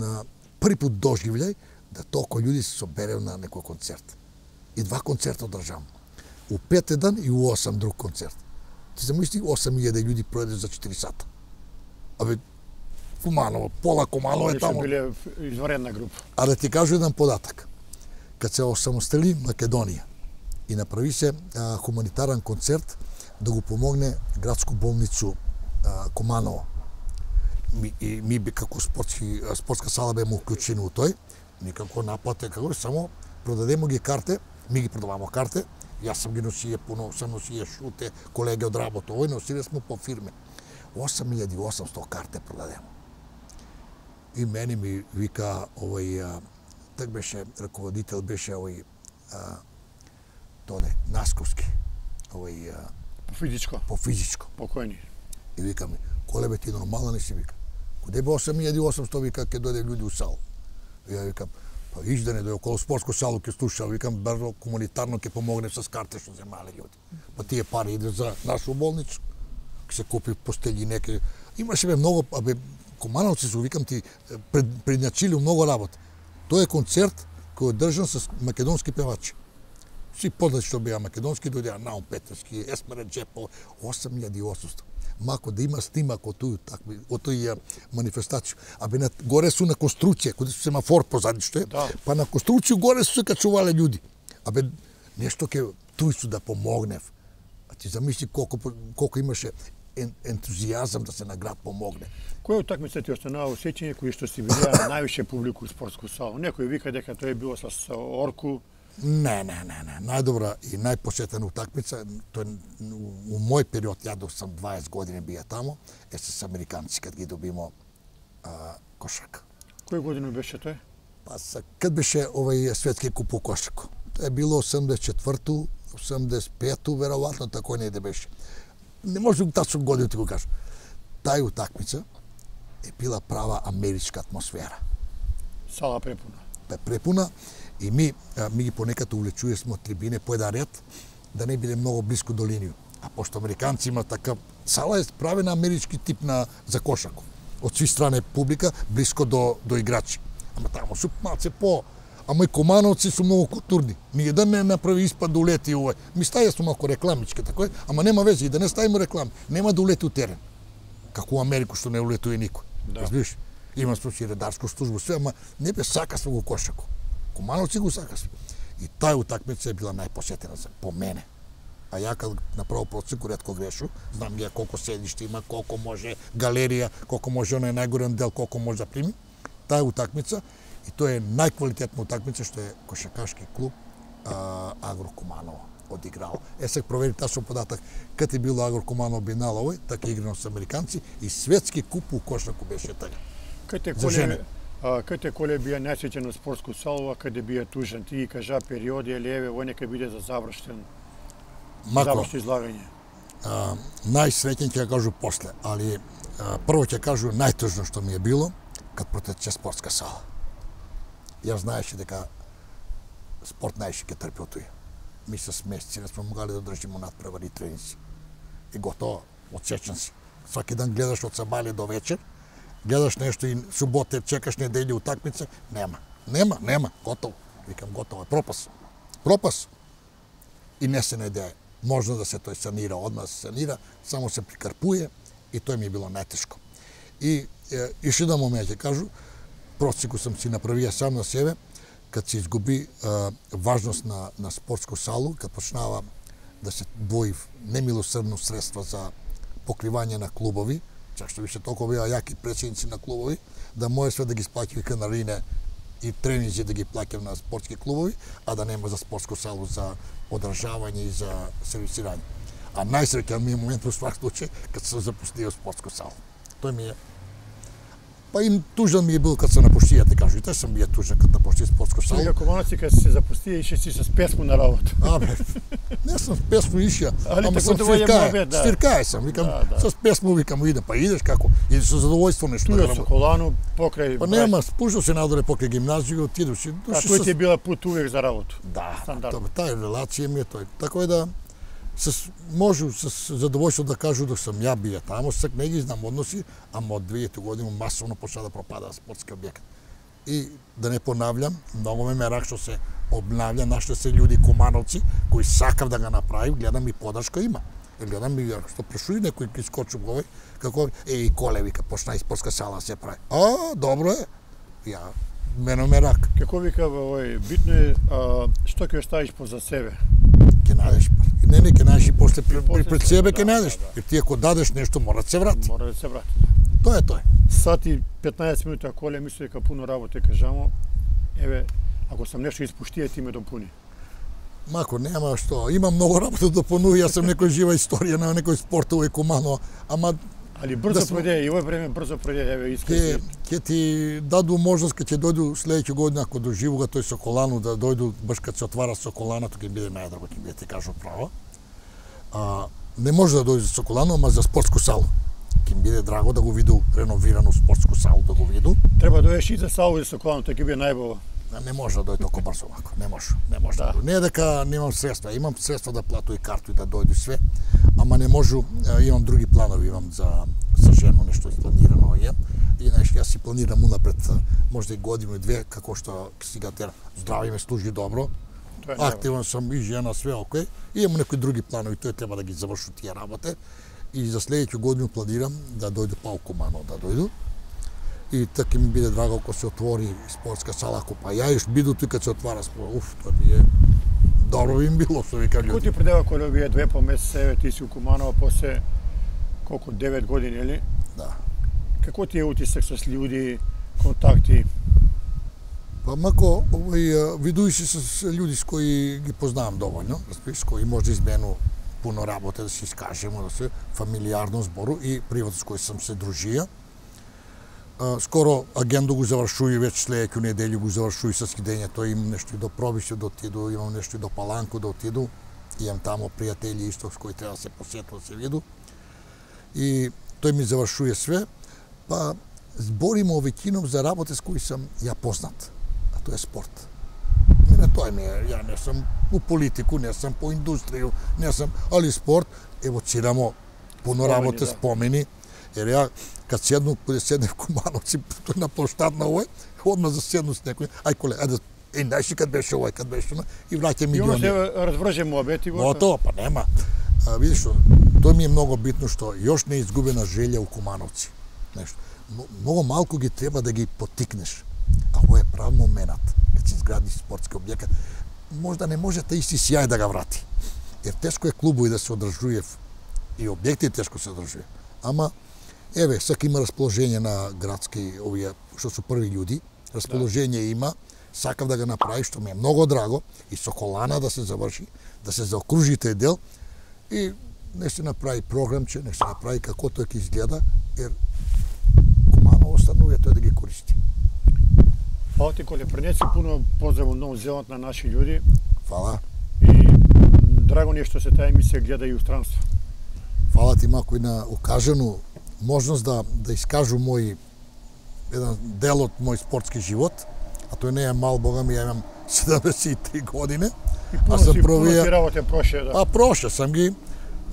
први пат доживљај да толку луѓе се собереа на некој концерт. И два концерта одржам. У пет еден и у осам друг концерт. Ти замисли осам илјади луѓе пројде за четири сата. Абе, Куманово, пола Куманово е таму. Биле изварена група. А да ти кажу еден податок. Кад се осамостели Македонија и направи се а, хуманитарен концерт да го помогне градску болницу а, Куманово. Ми, и ми би како спортски, спортска сала беме уклучени у тој, никако наплате, како само продадемо ги карте, ми ги продавамо карте, јас сам ги носија пуно, сам носија шуте, колеги од работа, овој носиле смо по фирме. осам илјади и осамсто карте продадемо. И мене ми вика овој, так беше, раководител беше овој, а, тоде, Насковски, овој... По физичко? По физичко. Покојни. И вика ми, Коле бе ти нормален ли си, вика? Куде бе осам илјади и осамсто, вика, ке дојде луѓе у сал. И ја викам, па иш да не дојде около спортско сало ке слуша, викам, брзо комунитарно ке помогне с карте што земале луѓе. Па тие пари иде за нашу болницу. Ке се купи постелји неке. Имаше бе многу, абе, Кумановци се викам ти пред, предначили многу работа. Тоа е концерт кој е држан со македонски певачи. Си познати што беа македонски, дојдеа Наум Петерски, Есмера Джепо, осум илјади и осумстотини. Мако да има снимак од тој такви, од тој манифестација. Абе на горе су на конструкција, каде су семафор позади што е, да. Па на конструкција горе су се качувале луѓе. Абе нешто ке туј су да помогнев. А ти замисли колку колку имаше ентузијазам да се на град помогне. Која утакмица ти останува усеќање кој што си видеа највише публику у спортску салу? Некој вика дека тоа е било со Орку. Не, не, не, не. Најдобра и најпосетена утакмица, тоа у мој период, ја док сам дваесет години бија тамо, е с американци кад ги добимо а, кошарка. Кој година беше тоа? Па са, кад беше овај светски куп у кошарку. Тоа е било осумдесет и четврту, осумдесет и пету, веројатно тако не да беше. Не може да тачно година ти го кажам. Тај утакмица е била права америчка атмосфера. Сала препуна. Бе препуна и ми ми ги понекад увлечуе смо трибине по еден ред да не биде многу блиску до линију. А пошто американци има така сала е правена амерички тип на за кошарку. Од сви страни публика блиско до до играчи. Ама таму су малце по Ама и Кумановци су многу културни. Ни еден не направи испад да улети овој. Ми стаја су малку рекламички, тако е, ама нема веќе, и да не ставиме реклами. Нема да улети у терен. Како у Америку што не улетува никој. Да. Разбираш? Има случаи редарско служба, све, ама не бе сакасме го кошако. Кумановци го сакасме. И тај утакмица е била најпосетена за по мене. А ја кад направо процеку ретко грешу, знам ја колку седиште има, колку може галерија, колку може онај најгорен дел, колку може да прими. Тај утакмица и тоа е најквалитетна утакмица што е кошакашки клуб а, Агро Куманово одиграл. Е сега провери тачно податак кад е било Агро Куманово бинал овој, така играно со американци и светски куп у кошаку беше така. Каде коле каде коле бија најсеќен од спортску салу, а каде бија тужен, ти кажа периоди или еве во нека биде за завршен. Мако, завршно излагање. А, најсреќен ќе кажу после, али а, прво ќе кажу најтужно што ми е било кад протече спортска сала. Јас знаеше дека спорт најше ќе трпи од тој. Ми се месеци не сме могали да држиме надпревари и тренинзи. И готово, одсечен си. Сваки ден гледаш од сабајле до вечер, гледаш нешто и субота чекаш неделја утакмица, нема. Нема, нема, готово. Викам готово е пропас. Пропас. И не се најде. Можно да се тој санира, одма се санира, само се прикарпуе и тој ми е било најтешко. И е, иш еден момент ќе кажу, процеку сам си направија сам на себе, кад се изгуби е, важност на, на спортско салу, кад почнава да се двои немилосрдно средства за покривање на клубови, чак што више толку беа јаки председници на клубови, да може све да ги сплаќави канарине и тренинзи да ги плаќам на спортски клубови, а да нема за спортско салу за одржавање и за сервисирање. А најсреќен ми е момент во свак случај кад се запустија спортско сало. Тој ми е Па им тужен ми е бил кад се напуштија, ти кажу, и тој сам бија тужен кад напуштија спортско сало. Сега Кумановци кад се запустија ише си с песмо на работа. Абе, не сум с песмо ишја, ама сам свиркај, да. свиркај сам, викам, да, да. С песмо викам, идем, па идеш како, идеш со задоволство нешто. Туја со колану, покрај... Па нема, спушал се надоле покрај гимназија, отидеш и... А тој ти е била пут увек за работа? Да, тај релација ми е тој. Така е да... С, можу с задоволство да кажу да сам ја бија тамо, сак не ги знам односи, ама од две хиляди година масовно почна да пропада спортски објект. И да не понавljам, многу ме мерак што се обнавља, наште се луѓе Кумановци кои сакав да го направи, гледам и подршка има. И гледам и што прашуи некој ки скочи овој, како е и коле вика почна и спортска сала се прави. А, добро е. Ја мене мерак. Како вика овој битно е а, што ќе оставиш поза себе. Ќе најдеш. Не, не, ќе најдеш и после пред себе ќе најдеш. Jer ти ако дадеш нешто, мора да се врати. Мора да се врати. Тоа е тој. Сат и петнаесет минути, ако ле мисли дека пуно работа кажамо, еве, ако сам нешто испуштија, ти ме допуни. Мако, нема што. Има многу работа да допунува, јас сум некој жива историја на некој спортово и Куманово, ама Али брзо да пројде, и овој време брзо пројде, еве искрено. Ќе ќе ти даду можност кога ќе дојду следеќа година ако доживува тој Соколану да дојду баш кога се отвара Соколана, тоа ќе биде најдраго, ќе биде ти кажу право. А не може да дојде за Соколану, ама за спортску салу. Ќе ми биде драго да го виду реновирано спортску салу, да го виду. Треба да дојдеш и за салу и за Соколану, тоа ќе биде најбово. Не може да дојде толку брзо вако, не може, не може. Да. Не е дека немам средства, имам средства да плату и карту и да дојду све, ама не можу, имам други планови, имам за за жена нешто испланирано е. И знаеш, јас си планирам унапред, можда и годину и две, како што сега тера здравје ме служи добро. Активен сум и жена, све окей. И имам некои други планови, тој треба да ги заврши тие работи. И за следеќу годину планирам да дојде па у Куманово, да дојду. И така ми биде драго ако се отвори спортска сала, ако па ја еш биду тука се отвара спорт. Уф, тоа ми е добро би им било, што вика луѓе. Кој ти предава кога овие две по месец, еве ти си у Куманово после колку девет години, или? Да. Како ти е утисак со луѓе, контакти? Па мако овој видујши со луѓе с кои ги познавам доволно, разбираш, кои може да измену пуно работа, да се искажемо, да се фамилиарно збору и приватно с кои сам се дружија. Скоро агендо го завршуи, веќе следеќу неделја го завршуи со скидењето, имам нешто и до Пробише да отиду, имам нешто и до Паланко да отиду, имам тамо пријатели исто с кои треба да се посету, да се виду. И тој ми завршуе све, па збориме веќином за работа с кои сам ја познат, а тоа е спорт. Не тоа ми е, ја не сум у политику, не сум по индустрију, не сум, али спорт, евоцирамо пуно работа, спомени, jer ja kad sjednu, kada sjedne v Kumanovci na ploštad na ovoj, odmah zasednu s nekom, aj kole, ajde, i najši kad беше ovaj, kad беше ono, i vraća mi I ono se razvrže moabet i gotovo. Gotovo, pa nema. A, vidiš, to mi je mnogo bitno što još ne izgubena želja u Kumanovci. Nešto. Mnogo malko ги treba da ги потикнеш. А ovo je prav moment, kad se izgradi sportski objekat. Možda ne može taj isti sjaj da ga vrati. Jer teško je klubu i da se odražuje i objekti teško se odražuje. Ама еве, сака има расположение на градски овие што су први луѓи, расположение да. Има, сакав да го направи, што ми е многу драго, и Соколана да се заврши, да се заокружи тој дел и не се направи програмче, не се направи како тоа ќе изгледа, jer Куманово останува тој да ги користи. Фала ти, Коле, пренеси пуно поздрав од Нов Зеланд на наши луѓи. Фала. И драго ни е што се таа емисија гледа и у странство. Фала ти мако и на укажану можност да да искажу мој еден дел од мој спортски живот, а тој не е мал, бога ми, ја имам седумдесет и три години. И пуно си, пуно си работе проше, да. А проше сам ги.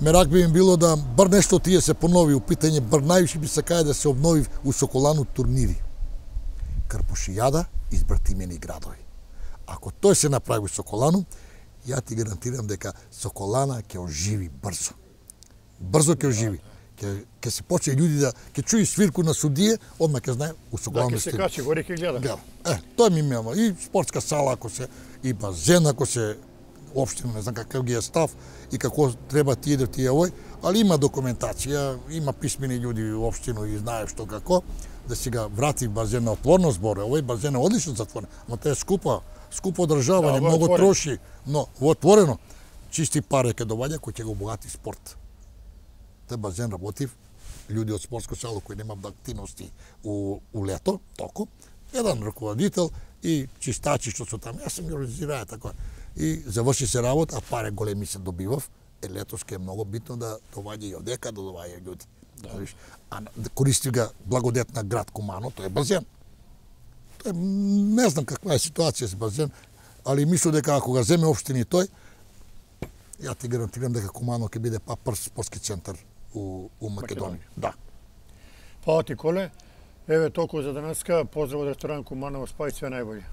Мерак би им било да бар нешто тие се понови у питање, бар највише би сакаја да се обнови у Соколану турнири. Карпушијада избратимени градови. Ако тој се направи у Соколану, ја ти гарантирам дека Соколана ќе оживи брзо. Брзо ќе оживи. Ќе ќе се почне луѓе да ќе чуи свирку на судие, одма ќе знае у Соколана. Да, ќе се качи горе ќе гледа. Да. Е, тоа ми имаме и спортска сала ако се и базен ако се општина, не знам каков ги е став и како треба ти да ти е овој, али има документација, има писмени луѓе во општина и знаеш што како да се ga врати базен на отворено зборе. Овој базен е одлично затворен, ама тоа е скупа, скупо одржавање, да, многу отворен. Троши, но во отворено чисти пари ќе доваѓа кој ќе го обогати спорт. Тој базен работив, луѓе од спортско сало кои немаат активности у, у лето, току, еден раководител и чистачи што су таму, јас сам ги организираа така. И заврши се работа, а пари големи се добивав, е летоски е многу битно да доваѓа и одека да доваѓа луѓе. Да. А да користи ga благодет на град Кумано, тој е базен. Тој не знам каква е ситуација с базен, али мислам дека ако го земе општини тој, ја ти гарантирам дека Кумано ќе биде па прв спортски центар у, у Македонија. Да. Фала ти, Коле. Еве толку за денеска. Поздрав од ресторан Куманово, спа и све најбоље.